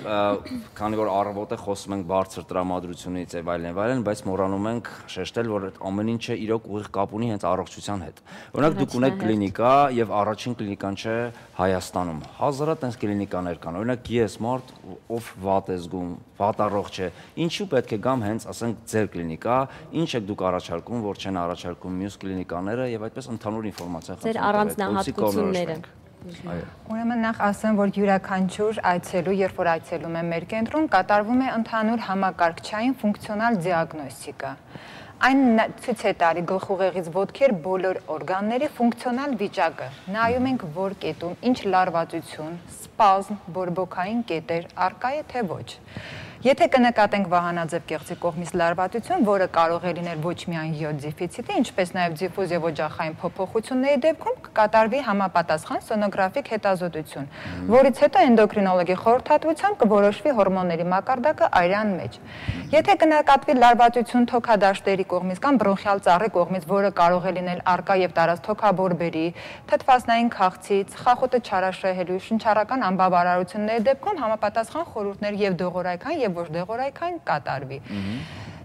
քանի որ առավոտ է խոսում ենք բարձր տրամադրությունից եւ այլն, բայց մոռանում ենք շեշտել, որ այդ ամեն ինչը իրոք ուղիղ կապ ունի հենց առողջության հետ։ Օրինակ դուք ունեք կլինիկա եւ առաջին կլինիկան չէ Հայաստանում։ Հազարատ այնպես կլինիկաներ կան։ Օրինակ ես մարդ, ով վատ է զգում, վատ առողջ է, ինչու պետք է գամ հենց, ասենք, ձեր կլինիկա, ինչ եք դուք առաջարկում, որ չեն առաջարկում մյուս կլինիկաները եւ այդպես ընդհանուր ինֆորմացիա խնդրում։ Ձեր առանձնահատկությունները։ Ուրեմն նախ ասեմ, որ յուրաքանչյուր այցելու, երբ որ այցելում է մեր կենտրոն, կատարվում է ընդհանուր համակարգչային ֆունկցիոնալ դիագնոստիկա։ Այն ցույց է տալի գլխուղեղից ոտքեր բոլոր օրգանների ֆունկցիոնալ վիճակը։ Նայում ենք, որ կետում ինչ լարվածություն, սպազմ, բորբոքային կետեր արկա է թե ոչ։ Եթե կնկատենք վահանաձև կեղծի կողմից լարվածություն, որը կարող է լինել ոչ միայն յոդ դեֆիցիտի, ինչպես նաև դիֆուզ եւ օջախային փոփոխությունների դեպքում կկատարվի համապատասխան սոնոգրաֆիկ հետազոտություն, որից հետո էնդոկրինոլոգի խորհրդատվությամբ կորոշվի հորմոնների մակարդակը արյան մեջ։ Եթե կնկատվի լարվածություն թոքադաշտերի կողմից կամ բրոնխիալ ծառի կողմից, որը կարող է լինել արկա եւ տարած թոքաբորբերի, թթվասնային քաղցից, խախոտը չարաշահելու, շնչառական անբավարարությունների դեպքում համապատասխան խորհուրդներ եւ դողորայքան եւ ոչ դեղորայքային կատարվի։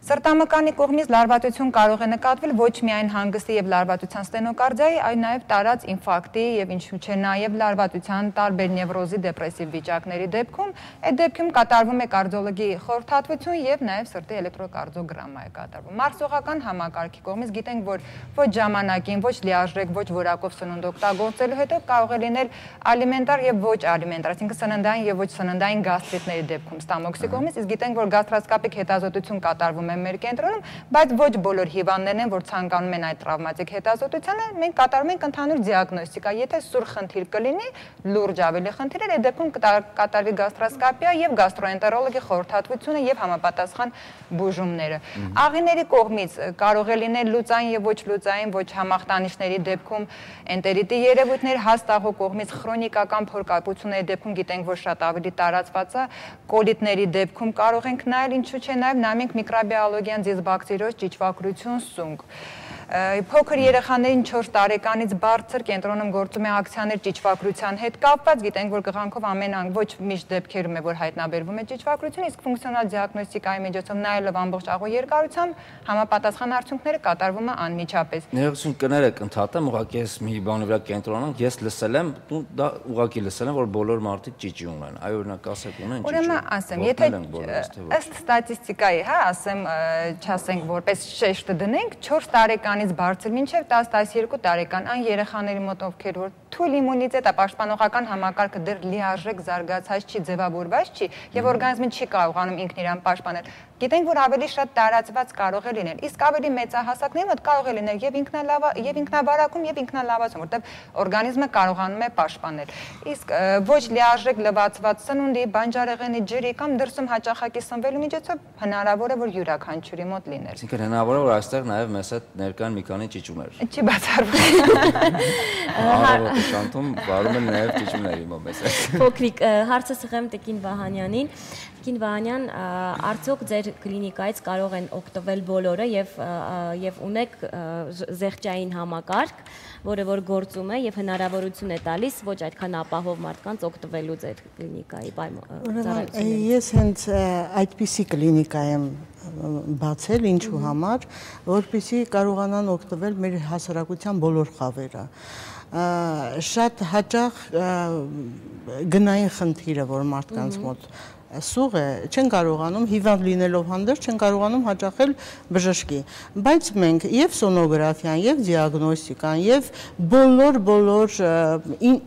Սրտամկանի կողմից լարվածություն կարող է նկատվել ոչ միայն հանգստի եւ լարվածության ստենոկարդիայի, այլ նաեւ տարած ինֆարկտի եւ ինչու՞ չէ նաեւ լարվածության տարբեր նևրոզի դեպրեսիվ վիճակների դեպքում, այդ դեպքում կատարվում է կարդիոլոգի խորհրդատվություն եւ նաեւ սրտի էլեկտրոկարդիոգրամա է կատարվում։ Մարսողական համակարգի կողմից գիտենք, որ ոչ ժամանակին, ոչ լիարժեք, ոչ որակով սնունդ օգտագործելու հետո կարող է լինել ալիմենտար եւ ոչ ալիմենտար, այսինքն սննդային եւ ոչ սննդային գաստրիտների դեպքում ստամոքսի կողմից, իսկ գիտենք, որ գաստրոսկոպիկ հետազոտություն կատարվում մեր կենտրոնում, բայց ոչ բոլոր հիվանդներն են, որ ցանկանում են այդ տրավմատիկ հետազոտությանը, մենք կատարում ենք ընդհանուր դիագնոստիկա։ Եթե սուր խնդիր կլինի, լուրջ ավելի խնդիրներ, այդ դեպքում կատարվի գաստրոսկոպիա եւ գաստրոենտերոլոգի խորհրդատվությունը եւ համապատասխան բուժումները։ Աղիների կողմից կարող է լինել լուծային եւ ոչ լուծային, ոչ համախտանիշների դեպքում էնտերիտի երևույթներ, հաստաղու կողմից քրոնիկական փորկապությունների դեպքում գիտենք, որ շատ ավելի տարածված է, կոլիտների դեպքում կարող ենք նայել, ինչու՞ չէ նաեւ նամինք միկրոբիոլոգիան դիսբակտերիոզ ճիճվակրություն սունկ։ Փոքր երեխաներին 4 տարեկանից բարձր կենտրոնում գործում է ակցիաներ ճիճվակրության հետ կապված, գիտենք, որ կղանքով ոչ միշտ դեպքերում է, որ հայտնաբերվում է ճիճվակրություն, իսկ ֆունկցիոնալ դիագնոստիկայի միջոցով նայելով ամբողջ աղու երկարությամբ համապատասխան արդյունքները կատարվում է անմիջապես։ Ներողություն կներեք, ընդհատեմ, ուղղակի ես մի բանի վրա կենտրոնանք, ես լսել եմ, դա ուղղակի լսել եմ, որ բոլոր մարդիկ ճիճի ունեն։ Այո, օրինակ ասեք ունեն ճիճի։ Ուրեմն ասեմ, եթե ըստ ստատիստիկայի, հա, ասեմ, չասենք որպես շեշտը դնենք, 4 տարեկան տարեկանից բարձր մինչև 10-12 տարեկան այն երեխաների մոտ ովքեր որ թույլ իմունիտետը պաշտպանողական համակարգը դեռ լիարժեք զարգացած չի, ձևավորված չի եւ օրգանիզմը չի կարողանում ինքն իրան պաշտպանել։ Գիտենք, որ ավելի շատ տարածված կարող է լինել, իսկ ավելի մեծահասակների մոտ կարող է լինել եւ ինքնավարակում եւ ինքնալավացում, որտեղ օրգանիզմը կարողանում է պաշտպանել։ Իսկ ոչ լիարժեք լվացված սնունդի, բանջարեղենի ջրի կամ դրսում հաճախակի սնվելու միջոցով հնարավոր է որ յուրաքանչյուրի մոտ լինել։ Այսինքն հնարավոր է որ այստեղ նաեւ մեզ հետ ներկան մի քանի ճիճումներ։ Չի բացառվում։ Առավոտը շանթում վարում են նաեւ ճիճումների մոտ մեզ հետ։ Փոքրիկ հարցը սղեմ Տիկին Վահանյանին։ Տիկին Վահանյան, արդյոք ձեր կլինիկայից կարող են օգտվել բոլորը եւ ունեք զեղչային համակարգ, որը որ գործում է եւ հնարավորություն է տալիս ոչ այդքան ապահով մարդկանց օգտվելու ձեր կլինիկայի ծառայություններից։ Ես հենց այդպիսի կլինիկա եմ բացել, ինչու համար, որպեսզի կարողանան օգտվել մեր հասարակության բոլոր խավերը։ Շատ հաճախ գնային խնդիրը, որ մարդկանց մոտ սուղ է, չեն կարողանում հիվանդ լինելով հանդերձ, չեն կարողանում հաճախել բժշկի, բայց մենք եւ սոնոգրաֆիան, եւ դիագնոստիկան, եւ բոլոր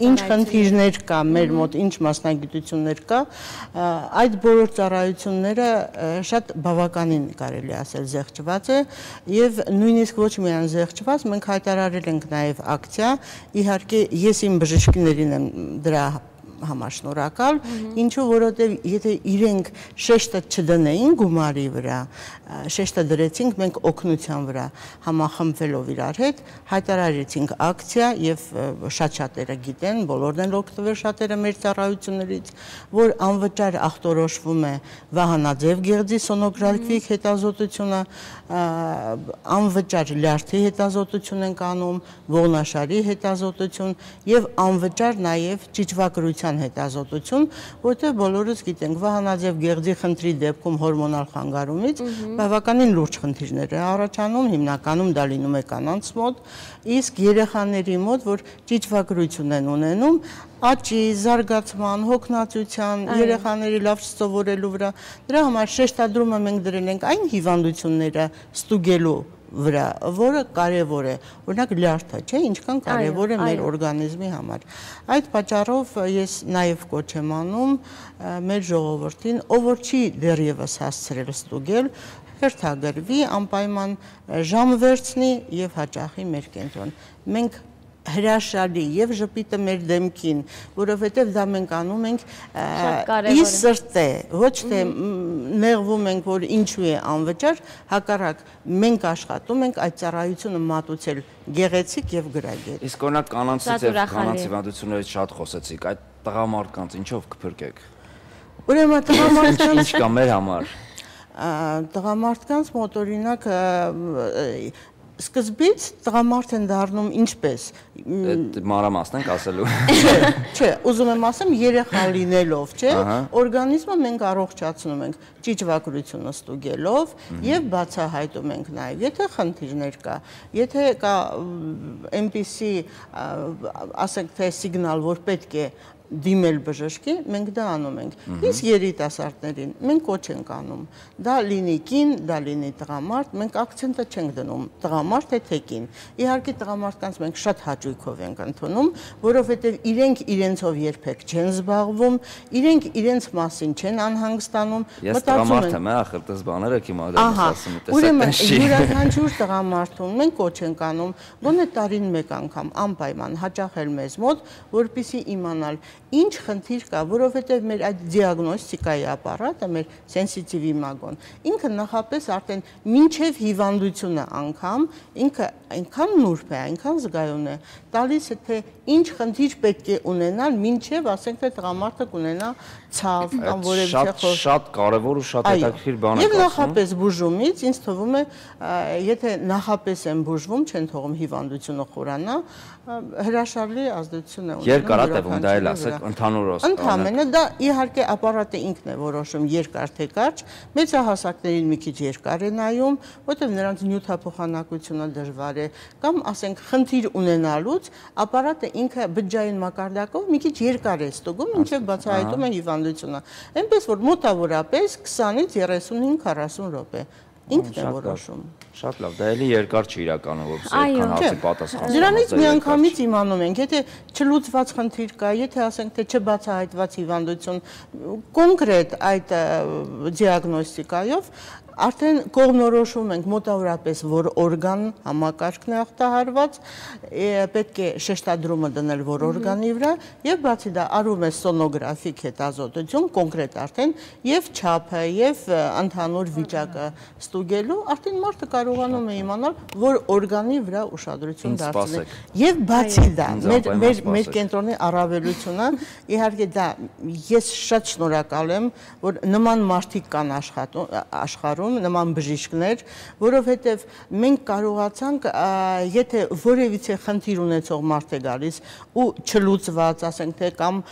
ինչ խնդիրներ կա մեր մոտ, ինչ մասնագիտություններ կա, այդ բոլոր ծառայությունները շատ բավականին կարելի ասել զեղչված է եւ նույնիսկ ոչ միայն զեղչված, մենք հայտարարել ենք նաեւ ակցիա, իհարկե ես իմ բժիշկներին եմ դրա համար շնորհակալ, ինչու որովհետև եթե իրենք շեշտը չդնեին գումարի վրա, շեշտը դրեցինք մենք օգնության վրա, համախմբվելով իրար հետ, հայտարարեցինք ակցիա եւ շատ-շատերը գիտեն, բոլորն են օգտվել շատերը մեր ծառայություններից, որ անվճար ախտորոշվում է Վահանաձև գեղձի սոնոգրաֆիկ հետազոտությունը, անվճար լյարդի հետազոտություն ենք անում, ողնաշարի հետազոտություն եւ անվճար նաեւ ճիճվակրության հետազոտություն, որտեղ բոլորս գիտենք Վահանաձև գեղձի խնդրի դեպքում հորմոնալ խանգարումից բավականին լուրջ խնդիրներ է առաջանում, հիմնականում դա լինում է կանանց մոտ, իսկ երեխաների մոտ, որ ճիճվակրություն են ունենում, աճի, զարգացման, հոգնածության, երեխաների լավ սովորելու վրա, դրա համար շեշտադրումը մենք դրել ենք այն հիվանդությունները ստուգելու վրա, որը կարևոր է, օրինակ լյարդը, չէ, ինչքան կարևոր է մեր օրգանիզմի համար։ Այդ պատճառով ես նաև կոչ եմ անում մեր ժողովրդին, ով որ չի դեռևս հասցրել ստուգել, հերթագրվի, անպայման ժամ վերցնի եւ հաճախի մեր կենտրոն։ Մենք հրաշալի եւ ժպիտը մեր դեմքին, որովհետեւ դա մենք անում ենք ի սրտե, ոչ թե նեղվում ենք, որ ինչու է անվճար, հակառակ մենք աշխատում ենք այդ ծառայությունը մատուցել գեղեցիկ եւ գրագետ։ Իսկ օրինակ կանանցից եւ կանանց հիվանդություններից շատ խոսեցիք, այդ տղամարդկանց ինչով կփրկեք։ Ուրեմն տղամարդկանց ինչ կա մեր համար։ Տղամարդկանց մոտ օրինակ սկզբից տղամարդ են դառնում ինչպես։ Մանրամասն ենք ասելու։ Չէ, ուզում եմ ասեմ երեխա լինելով, չէ, օրգանիզմը մենք առողջացնում ենք ճիճվակրությունը ստուգելով եւ բացահայտում ենք նաեւ, եթե խնդիրներ կա, եթե կա այնպիսի, ասենք թե սիգնալ, որ պետք է դիմել բժշկի, մենք դա անում ենք։ Իսկ երիտասարդներին մենք կոչ ենք անում։ Դա լինի կին, դա լինի տղամարդ, մենք акցենտը չենք դնում տղամարդ թե կին։ Իհարկե տղամարդկանց մենք շատ հաճույքով ենք ընդունում, որովհետև իրենք իրենցով երբեք չեն զբաղվում, իրենք իրենց մասին չեն անհանգստանում, Ես տղամարդ եմ, ախր դες բաները կիմադեմ ասում եմ, ուրեմն յուրաքանչյուր տղամարդուն մենք կոչ ենք անում, գոնե տարին մեկ անգամ անպայման հաճախել մեզ մոտ, որպեսզի իմանալ ինչ խնդիր կա, որովհետև մեր այդ դիագնոստիկայի ապարատը, մեր սենսիտիվ իմագոն, ինքը նախապես արդեն մինչև հիվանդությունը անգամ, ինքը այնքան նուրբ է, այնքան զգայուն է, տալիս է թե ինչ խնդիր պետք է ունենալ, մինչև ասենք թե տղամարդը կունենա ցավ կամ որևէ շատ կարևոր ու շատ հետաքրքիր բան է։ Եվ նախապես բուժումից ինձ թվում է, եթե նախապես են բուժվում, չեն թողում հիվանդությունը խորանա, հրաշալի ազդեցություն է ունենում։ Երկար է տևում, դա էլ ասեք, ընդհանուր Ընդհանրապես դա իհարկե ապարատը ինքն է որոշում երկար թե կարճ, մեծահասակներին մի քիչ երկար է նայում, որտեղ նրանց նյութափոխանակությունը դժվար է, կամ ասենք խնդիր ունենալուց ապարատը ինքը բջջային մակարդակով մի քիչ երկար է ստուգում, մինչև բացահայտում է հիվանդությունը։ Այնպես որ մոտավորապես 20-ից 35-40 րոպե ինքն է որոշում։ Շատ լավ, դա էլի երկար չի իրականում, որպես այդքան հարցի պատասխան։ Դրանից միանգամից իմանում ենք, եթե չլուծված խնդիր կա, եթե ասենք թե չբացահայտված հիվանդություն, կոնկրետ այդ դիագնոստիկայով արդեն կողմնորոշում ենք մոտավորապես, որ օրգան համակարգն է ախտահարված, պետք է շեշտադրումը դնել, որ օրգանի վրա, եւ բացի դա արվում է սոնոգրաֆիկ հետազոտություն, կոնկրետ արդեն եւ չափը եւ ընդհանուր վիճակը ստուգելու, արդեն մարդը կարողանում է իմանալ, որ օրգանի վրա ուշադրություն դարձնել։ Եւ բացի դա, մեր կենտրոնի առավելությունը, իհարկե դա ես շատ շնորհակալ եմ, որ նման մարդիկ կան աշխարհում, նման բժիշկներ, որովհետև մենք կարողացանք, եթե որևիցե խնդիր ունեցող մարդ է գալիս ու չլուծված, ասենք թե կամ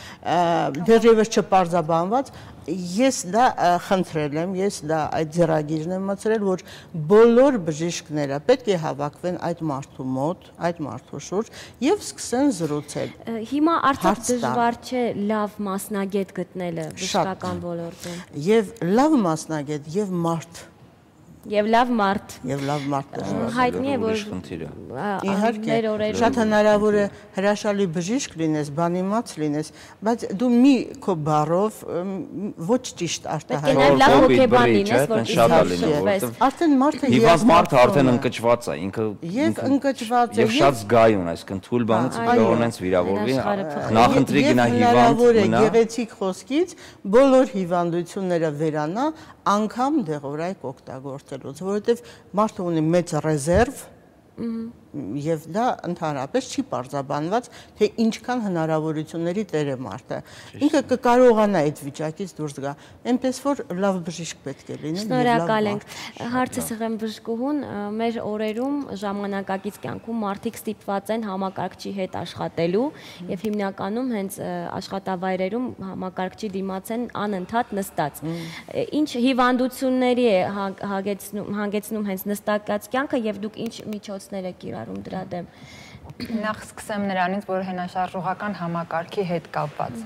դեռևս չպարզաբանված, ես դա խնդրել եմ, ես դա այդ ձեռագիրն եմ մտցրել, որ բոլոր բժիշկները պետք է հավաքվեն այդ մարդու մոտ, այդ մարդու շուրջ եւ սկսեն զրուցել։ Հիմա արդյոք դժվար չէ լավ մասնագետ գտնելը բժշկական ոլորտում։ Եվ լավ մասնագետ եւ մարդ Եվ լավ մարդ։ Եվ լավ մարդ հայտնի է, որ իհարկե շատ հնարավոր է հրաշալի բժիշկ լինես, բանիմաց լինես, բայց դու մի քո բառով ոչ ճիշտ արտահայտես։ Լավ հոգեբան լինես, որ արդեն մարդը հիվանդ մարդը արդեն ընկճված է, ինքը եւ ընկճված է եւ շատ զգայուն, այսինքն թույլ բանից դողոնենց վիրավորվի, նախընտրի գնա հիվանդ մնա։ Գեղեցիկ խոսքից բոլոր հիվանդությունները վերանա անգամ դեղորայք օգտագործելուց, որովհետև մարդը ունի մեծ ռեզերվ եւ դա ընդհանրապես չի պարզաբանված, թե ինչքան հնարավորությունների տեր է մարդը։ Ինքը կկարողանա այդ վիճակից դուրս գա, այնպես որ լավ բժիշկ պետք է լինի։ Շնորհակալ ենք։ Հարցը սեղեմ բժշկուհուն, մեր օրերում ժամանակակից կյանքում մարդիկ ստիպված են համակարգչի հետ աշխատելու եւ հիմնականում հենց աշխատավայրերում համակարգչի դիմաց են անընդհատ նստած։ Ինչ հիվանդությունների է հանգեցնում հենց նստակած կյանքը եւ դուք ինչ միջոցներ եք կիրառում դրա դեմ։ Նախ սկսեմ նրանից, որ հենաշարժողական համակարգի հետ կապված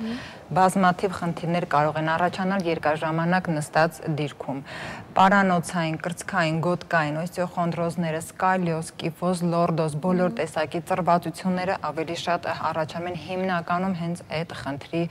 բազմաթիվ խնդիրներ կարող են առաջանալ երկարաժամանակ նստած դիրքում։ Պարանոցային, կրծքային, գոտկային, օստեոխոնդրոզները, սկալիոզ, կիֆոզ, լորդոզ, բոլոր տեսակի ծրվածությունները ավելի շատ առաջանում են հիմնականում հենց այդ խնդրի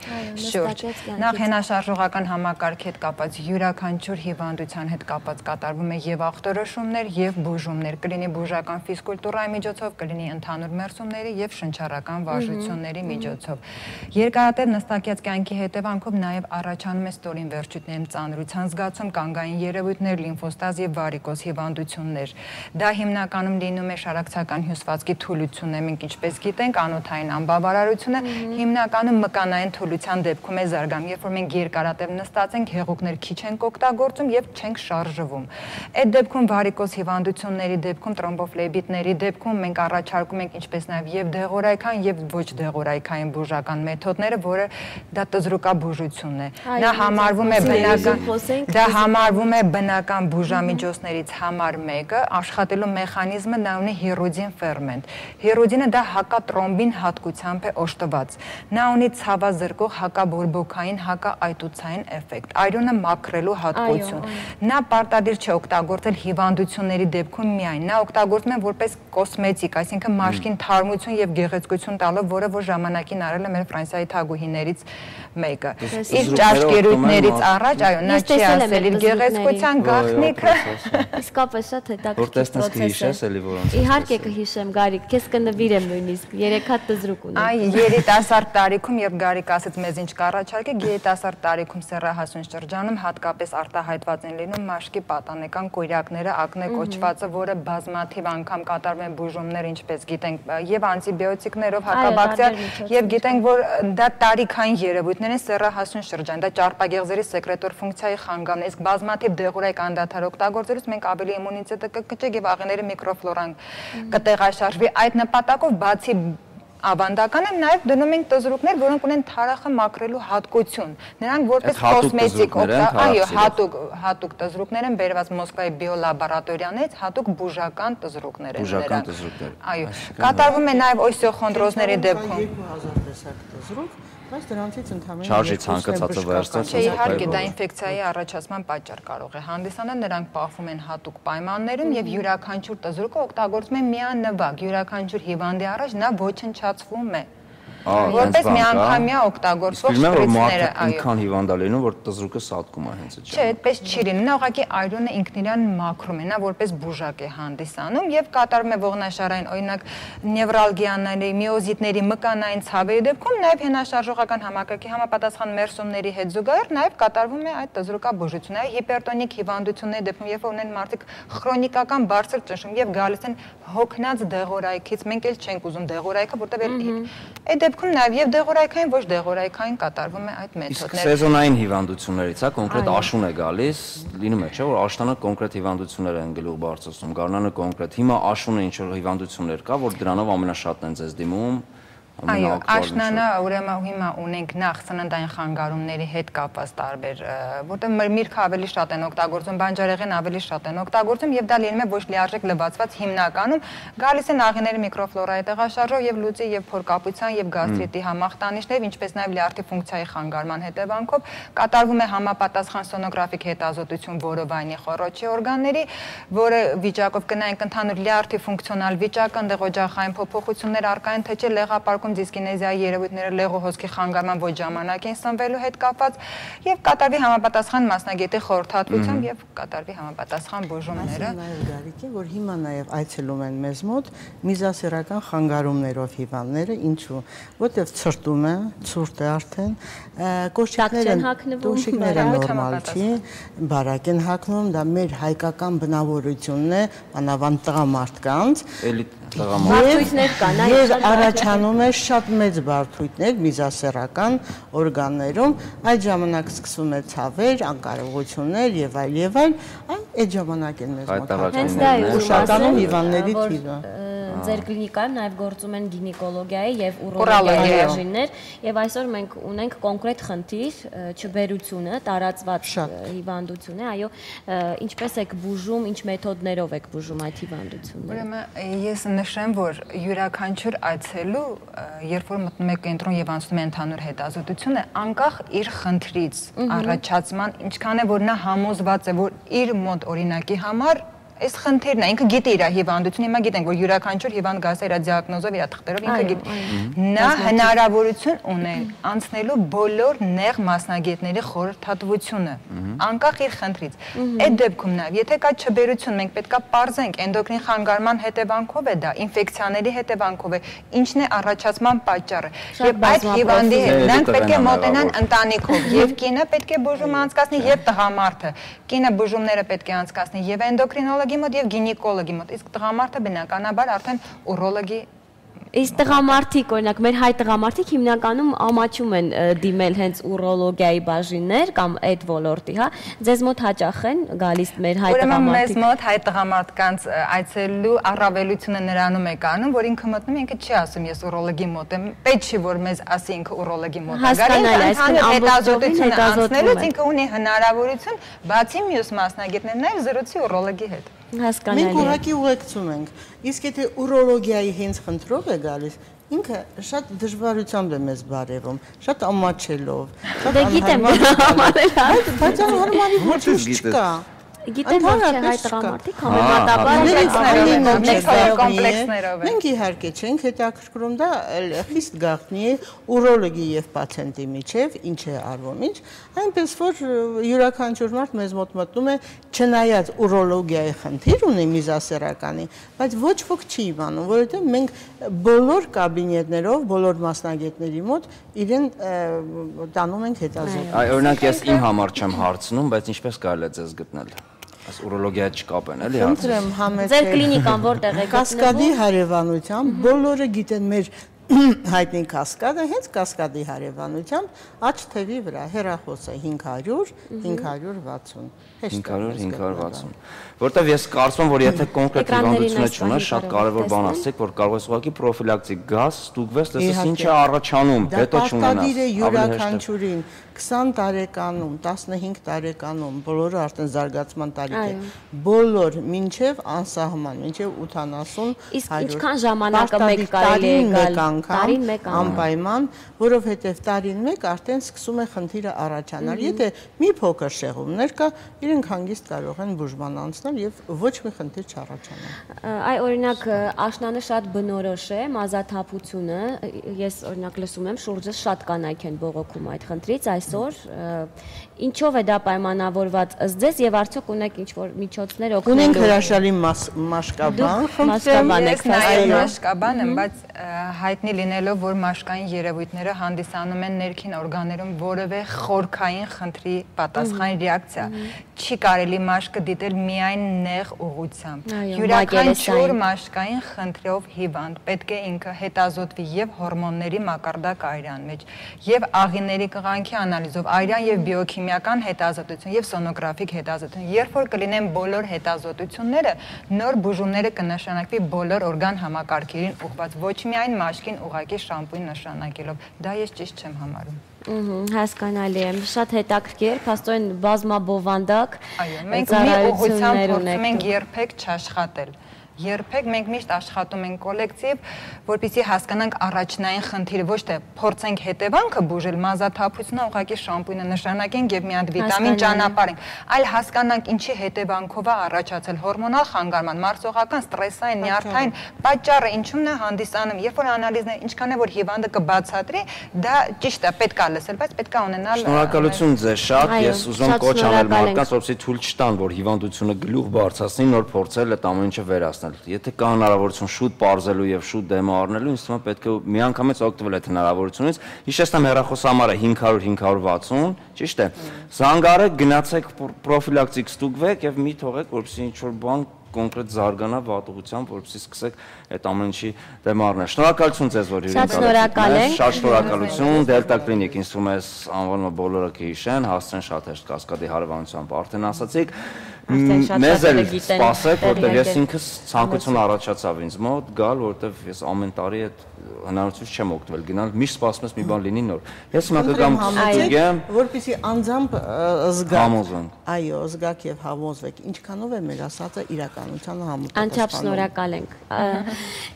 շուրջ։ Նախ հենաշարժողական համակարգի հետ կապված յուրաքանչյուր հիվանդության հետ կապված կատարվում է եւ ախտորոշումներ եւ բուժումներ, կլինի բուժական ֆիզկուլտուրայի միջոցով, կլինի ընդհանուր մերսումների եւ շնչառական վարժությունների միջոցով։ Երկարատև նստակյաց կյանքի հետևանքով նաեւ առաջանում է ստորին վերջույթներում ծանրության զգացում, կանգային երևույթներ, լիմֆոստազ եւ վարիկոզ հիվանդություններ։ Դա հիմնականում լինում է շարակցական հյուսվածքի թուլությունը, մենք ինչպես գիտենք, անոթային անբավարարությունը հիմնականում մկանային թուլության դեպքում է զարգանում, երբ որ մենք երկարատև նստած ենք, հեղուկներ քիչ ենք օգտագործում եւ չենք շարժվում։ Այդ դեպքում վարիկոզ հիվանդությունների դեպքում, տրոմբոֆլեբիտների դեպքում մենք առաջարկում ենք ինչպես նաեւ եւ դեղորայքային եւ ոչ դեղորայքային բուժական մեթոդները, որը դա տզրուկաբուժությունն է։ Դա համարվում է բնական բուժամիջոցներից համար մեկը, աշխատելու մեխանիզմը նա ունի հիրուդին ֆերմենտ։ Հիրուդինը դա հակատրոմբին հատկությամբ է օժտված։ Նա ունի ցավազրկող հակաբորբոքային, հակաայտուցային էֆեկտ, այրոնը մաքրելու հատկություն։ Նա պարտադիր չէ օգտագործել հիվանդությունների դեպքում միայն, նա օգտագործվում է որպես կոսմետիկ, այսինքն մաշկին թարմություն եւ գեղեցկություն տալով, որը որ ժամանակին արել է մեր Ֆրանսիայի թագուհիներից մեկը։ Իր ճաշկերույթներից առաջ, այո, նա չի ասել իր գեղեցկության գաղտնիքը։ Իսկապես շատ հետաքրքիր պրոցես է։ Իհարկե կհիշեմ, Գարիկ, քեզ կնվիրեմ նույնիսկ, 3 հատ տզրուկ ունեմ։ Այ երիտասարդ տարիքում, երբ Գարիկ ասեց մեզ ինչ կառաջարկի, երիտասարդ տարիքում սեռահասուն շրջանում հատկապես արտահայտված են լինում մաշկի պատանեկան կույրակները, ակնե կոչվածը, որը բազմաթիվ անգամ կատարվում են բուժումներ, ինչպես գիտենք, եւ անտիբիոտիկներով, հակաբակտերիալ, եւ գիտենք, որ դա տարիքային երևույթներ են սեռահասուն շրջան, դա ճարպագեղձերի սեկրետոր ֆունկցիայի խանգարումն է, իսկ բազմաթիվ դեղորայք անդադար օգտագործելուց մենք ավելի իմունիտետը կկճենք եւ աղիների միկրոֆլորան կտեղաշարժվի։ Այդ նպատակով բացի ավանդական են նաև դնում ենք տզրուկներ, որոնք ունեն թարախը մաքրելու հատկություն։ Նրանք որպես կոսմետիկ, այո, հատուկ տզրուկներ են բերված Մոսկվայի բիոլաբորատորիաներից, հատուկ բուժական տզրուկներ են նրանք։ Այո, կատարվում է նաև օստեոխոնդրոզների դեպքում։ 2000 տեսակ տզրուկ, Բայց դրանցից ընդհանրապես չարժի ցանկացածը վերցնել։ Չէ, իհարկե դա ինֆեկցիայի առաջացման պատճառ կարող է հանդիսանալ, նրանք պահվում են հատուկ պայմաններում եւ յուրաքանչյուր տզրուկը օգտագործվում է միանվագ, յուրաքանչյուր հիվանդի առաջ նա ոչնչացվում է։ Որպես միանգամյա օգտագործվող շպրիցները, այո։ Ինքան հիվանդալինում, որ տզրուկը սատկում է հենց այդ։ Չէ, այդպես չի լինում։ Նա ուղղակի այրոնը ինքն իրան մաքրում է, նա որպես բուժակ է հանդիսանում եւ կատարում է ողնաշարային, օրինակ նևրալգիաների, միոզիտների, մկանային ցավերի դեպքում նաեւ հենաշարժողական համակարգի համապատասխան մերսումների հետ զուգահեռ նաեւ կատարվում է այդ տզրուկաբուժությունը։ Հիպերտոնիկ հիվանդությունների դեպքում, երբ ունեն մարդիկ քրոնիկական բարձր ճնշում եւ գալիս են հոգնած դեղորայքից, մենք էլ չենք ուզում դեղորայքը, որտեղ այդ դեպքում նաև եւ դեղորայքային ոչ դեղորայքային կատարվում է այդ մեթոդները։ Իսկ սեզոնային հիվանդություններից, հա, կոնկրետ աշուն է գալիս, լինում է, չէ՞, որ աշտանը կոնկրետ հիվանդություններ են գլուխ բարձրացնում, գարնանը կոնկրետ։ Հիմա աշունը ինչ որ հիվանդություններ կա, որ դրանով ամենաշատն են ձեզ դիմում։ Այո, աշնանը ուրեմն հիմա ունենք նախ սննդային խանգարումների հետ կապված տարբեր, որտեղ միրգը ավելի շատ են օգտագործում, բանջարեղեն ավելի շատ են օգտագործում եւ դա լինում է ոչ լիարժեք լվացված հիմնականում գալիս են աղիների միկրոֆլորայի տեղաշարժով եւ լուծի եւ փորկապության եւ գաստրիտի համախտանիշներ, ինչպես նաեւ լյարդի ֆունկցիայի խանգարման հետևանքով կատարվում է համապատասխան սոնոգրաֆիկ հետազոտություն որովայնի խոռոչի օրգանների, որը վիճակով կնայենք ընդհանուր լյարդի ֆունկցիոնալ վիճակը, այնտեղ օջախային փոփոխություններ առկա են, թե չէ լեղապարկում դիսկինեզիայի երևույթները լեղու հոսքի խանգարման ոչ ժամանակին սնվելու հետ կապված եւ կատարվի համապատասխան մասնագետի խորհրդատվությամբ եւ կատարվի համապատասխան բուժումները։ Գարիկի, որ հիմա նաեւ այցելում են մեզ մոտ միզասերական խանգարումներով հիվանդները, ինչու, որտեղ ցրտում է, ցուրտ է արդեն, կոշիկները նորմալ չի, բարակ են հագնում, դա մեր հայկական բնավորությունն է, անավանդ տղամարդկանց։ Բարդույթներ կան, այո, առաջանում է շատ մեծ բարդույթներ միզասեռական օրգաններում, այդ ժամանակ սկսվում է ցավեր, անկարողություններ եւ այլ, այդ ժամանակ են մեզ մոտ ուշականում հիվանդների թիվը։ Ձեր կլինիկայում նաև գործում են գինեկոլոգիայի եւ ուրոլոգիայի բաժիններ եւ այսօր մենք ունենք կոնկրետ խնդիր չբերությունը, տարածված հիվանդություն է, այո, ինչպես եք բուժում, ինչ մեթոդներով եք բուժում այդ հիվանդությունները։ Ուրեմն ես նշեմ, որ յուրաքանչյուր այցելու, երբ որ մտնում է կենտրոն եւ անցնում է ընդհանուր հետազոտությունը, անկախ իր խնդրից, առաջացման, ինչքան է որ նա համոզված է, որ իր մոտ օրինակի համար այս խնդիրն է, ինքը գիտի իր հիվանդությունը, հիմա գիտենք, որ յուրաքանչյուր հիվանդ գալիս է իր դիագնոզով, իր թղթերով, ինքը գիտի։ Նա հնարավորություն ունի անցնելու բոլոր նեղ մասնագետների խորհրդատվությունը, անկախ իր խնդրից։ Այդ դեպքում նաև, եթե կա չբերություն, մենք պետքա պարզենք էնդոկրին խանգարման հետևանքով է դա, ինֆեկցիաների հետևանքով է, ինչն է առաջացման պատճառը։ Եվ այդ հիվանդի հետ նրանք պետք է մոտենան ընտանիքով, եւ կինը պետք է բուժում անցկացնի, եւ տղամարդը։ Կինը բուժումները պետք է անցկացնի եւ էնդոկրինոլոգի մոտ եւ գինեկոլոգի մոտ, իսկ տղամարդը բնականաբար արդեն ուրոլոգի։ Իսկ տղամարդիկ, օրինակ, մեր հայ տղամարդիկ հիմնականում ամաչում են դիմել հենց ուրոլոգիայի բաժիններ կամ այդ ոլորտի, հա։ Ձեզ մոտ հաճախ են գալիս մեր հայ տղամարդիկ։ Ուրեմն մեզ մոտ հայ տղամարդկանց այցելու առավելությունը նրանում է կանում, որ ինքը մտնում, ինքը չի ասում ես ուրոլոգի մոտ եմ, պետք չի որ մեզ ասի ինքը ուրոլոգի մոտ է։ Հասկանալի, այսինքն հետազոտությունը անցնելուց ինքը ունի հնարավորություն բացի մյուս մասնագետներ նաև զրուցի ուրոլոգի հետ։ Հասկանալի։ Մենք ուղղակի ուղեկցում ենք։ Իսկ եթե ուրոլոգիայի հենց խնդրով է գալիս, ինքը շատ դժվարությամբ է մեզ բարևում, շատ ամաչելով, շատ անհարմար։ Բայց անհարմարի ոչ չկա։ Գիտեմ, որ չէ հայ տղամարդիկ համեմատաբար կոմպլեքսներով են։ Մենք իհարկե չենք հետաքրքրում, դա խիստ գաղտնի է ուրոլոգի եւ պացիենտի միջև, ինչ է արվում, ինչ, այնպես որ յուրաքանչյուր մարդ մեզ մոտ մտնում է, չնայած ուրոլոգիայի խնդիր ունի միզասեռականի, բայց ոչ ոք չի իմանում, որովհետեւ մենք բոլոր կաբինետներով, բոլոր մասնագետների մոտ իրեն տանում ենք հետազոտում։ Օրինակ ես իմ համար չեմ հարցնում, բայց ինչպես կարելի է ձեզ գտնել։ Այս ուրոլոգիա չկապեն, էլի հարց։ Խնդրեմ համեցեք։ Ձեր կլինիկան որտեղ է գտնվում։ Կասկադի հարևանությամբ բոլորը գիտեն մեր հայտնի կասկադը, հենց կասկադի հարևանությամբ աջ թևի վրա հեռախոսը 500-560 500-560 Որտեվ ես կարծում եմ, որ եթե կոնկրետ հիվանդությունը չունես, շատ կարևոր բան ասեք, որ կարող ես ուղղակի պրոֆիլակտիկ գազ, ստուգվես, տեսես ինչ է առաջանում, հետո չունենաս։ Դա պատկադիր է յուրաքանչյուրին 20 տարեկանում, 15 տարեկանում, բոլորը արդեն զարգացման տարիք է, բոլոր մինչև անսահման, մինչև 80, 100։ Իսկ ինչքան ժամանակը մեկ կարելի է գալ անգամ անպայման, որովհետև տարին մեկ արդեն սկսում է խնդիրը առաջանալ։ Եթե մի փոքր շեղումներ կա, իրենք հանգիստ կարող են բուժման անցնել եւ ոչ մի խնդիր չառաջանա։ Այ օրինակ աշնանը շատ բնորոշ է մազաթափությունը, ես օրինակ լսում եմ շուրջը շատ կանայք են բողոքում այդ խնդրից այսօր, ինչով է դա պայմանավորված ըստ ձեզ եւ արդյոք ունեք ինչ-որ միջոցներ օգնելու։ Ունենք հրաշալի մաշկաբան, մաշկաբան եմ, բայց հայտնի լինելով, որ մաշկային երևույթները հանդիսանում են ներքին օրգաններում որևէ խորքային խնդրի պատասխան ռեակցիա, չի կարելի մաշկը դիտել միայն նեղ ուղղությամբ։ Յուրաքանչյուր մաշկային խնդրով հիվանդ պետք է ինքը հետազոտվի եւ հորմոնների մակարդակ այրան մեջ, եւ աղիների կղանքի անալիզով, այրան եւ բիոքիմիական հետազոտություն եւ սոնոգրաֆիկ հետազոտություն։ Երբ որ կլինեն բոլոր հետազոտությունները, նոր բուժումները կնշանակվի բոլոր օրգան համակարգերին ուղղված, ոչ միայն մաշկին ուղղակի շամպույն նշանակելով։ Դա ես ճիշտ չեմ համարում։ Հասկանալի է, շատ հետաքրքիր, փաստորեն բազմաբովանդակ ծառայություններ ունեք։ Մենք երբեք չաշխատել։ Երբեք մենք միշտ աշխատում ենք կոլեկտիվ, որպեսզի հասկանանք առաջնային խնդիրը, ոչ թե փորձենք հետևանքը բուժել, մազաթափությունը ուղղակի շամպույնը նշանակենք եւ մի հատ վիտամին ճանապարհենք, այլ հասկանանք ինչի հետևանքով է առաջացել հորմոնալ խանգարման, մարսողական, ստրեսային, նյարդային պատճառը ինչումն է հանդիսանում, երբ որ անալիզն է, ինչքան է որ հիվանդը կբացատրի, դա ճիշտ է, պետք է լսել, բայց պետք է ունենալ։ Շնորհակալություն ձեզ շատ, ես ուզում կոչ անել մարդկանց, որպեսզի թույլ չտան, որ հիվանդությունը գլուխ բարձրացնի, նոր փորձել այդ ամեն ինչը վերացնել։ Եթե կա հնարավորություն շուտ պարզելու եւ շուտ դեմո առնելու, ինձ թվում է պետք է միանգամից օգտվել այդ հնարավորությունից։ Հիշեցնեմ հեռախոսահամարը 500-560, ճիշտ է։ Զանգարեք, գնացեք պրոֆիլակտիկ ստուգվեք եւ մի թողեք, որպեսզի ինչ որ բան կոնկրետ զարգանա վատուղությամբ, որպեսզի սկսեք այդ ամեն ինչի դեմ առնել։ Շնորհակալություն ձեզ, որ շատ շնորհակալություն, Դելտա կլինիկ, ինձ թվում է անվանումը բոլորը կհիշեն, հասցրեն շատ հեշտ կասկադի հարևանությամբ արդեն ասացիք։ Մեզ էլ սպասեք, որտեղ ես ինքս ցանկություն առաջացավ ինձ մոտ գալ, որտեղ ես ամեն տարի այդ հնարավորությունից չեմ օգտվել գնալ, միշտ սպասում ես մի բան լինի նոր։ Ես հիմա կգամ ստուգեմ, որպեսզի անձամբ զգաք։ Համոզվենք։ Այո, զգաք եւ համոզվեք, ինչքանով է մեր ասածը իրականությանը համապատասխանում։ Անչափ շնորհակալ ենք։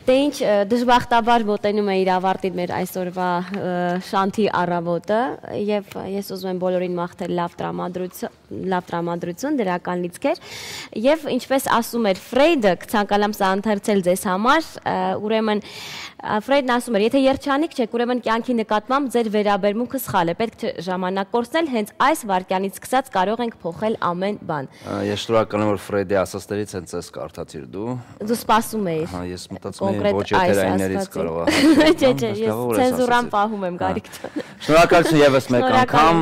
Դե ինչ դժբախտաբար մոտենում է իր ավարտին մեր այսօրվա շանթի առավոտը եւ ես ուզում եմ բոլորին մաղթել լավ տրամադրություն, դրական լիցքեր եւ ինչպես ասում էր Ֆրեյդը, ցանկալամ սա ընթերցել ձեզ համար, ուրեմն Ֆրեյդն ասում էր, եթե երջանիկ չեք, ուրեմն կյանքի նկատմամբ ձեր վերաբերմունքը սխալ է, պետք չէ ժամանակ կորցնել, հենց այս վայրկյանից սկսած կարող ենք փոխել ամեն բան։ Ես շնորհակալ եմ, որ Ֆրեյդի ասածներից հենց այս կարդացիր դու։ Դու սպասում էիր։ Հա, ես մտածում եմ ոչ եթերայիններից կարող է։ Չէ, ես ցենզուրան պահում եմ գարիք։ Շնորհակալություն եւս մեկ անգամ։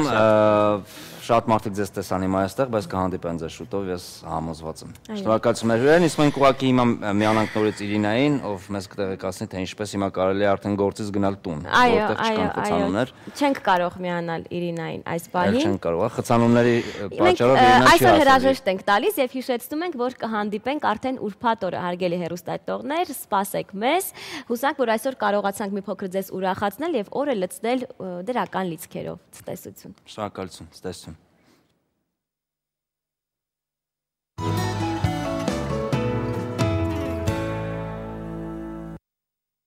Շատ մարդիկ ձեզ տեսան հիմա այստեղ, բայց կհանդիպեն ձեզ շուտով, ես համոզված եմ։ Շնորհակալություն հյուրերին, իսկ մենք ուղղակի հիմա միանանք նորից Իրինային, ով մեզ կտեղեկացնի, թե ինչպես հիմա կարելի է արդեն գործից գնալ տուն, որտեղ չկան խցանումներ։ Չենք կարող միանալ Իրինային այս պահին։ Չենք կարող, խցանումների պատճառով Իրինան չի այսօր հրաժեշտ ենք տալիս եւ հիշեցնում ենք, որ կհանդիպենք արդեն ուրբաթ օրը, հարգելի հեռուստադիտողներ, սպասեք մեզ։ Հուսանք, որ այսօր կարողացանք մի փոքր ձեզ ուրախացնել եւ օրը լցնել դրական լիցքերով։ Ցտեսություն։ Շնորհակալություն, ցտեսություն։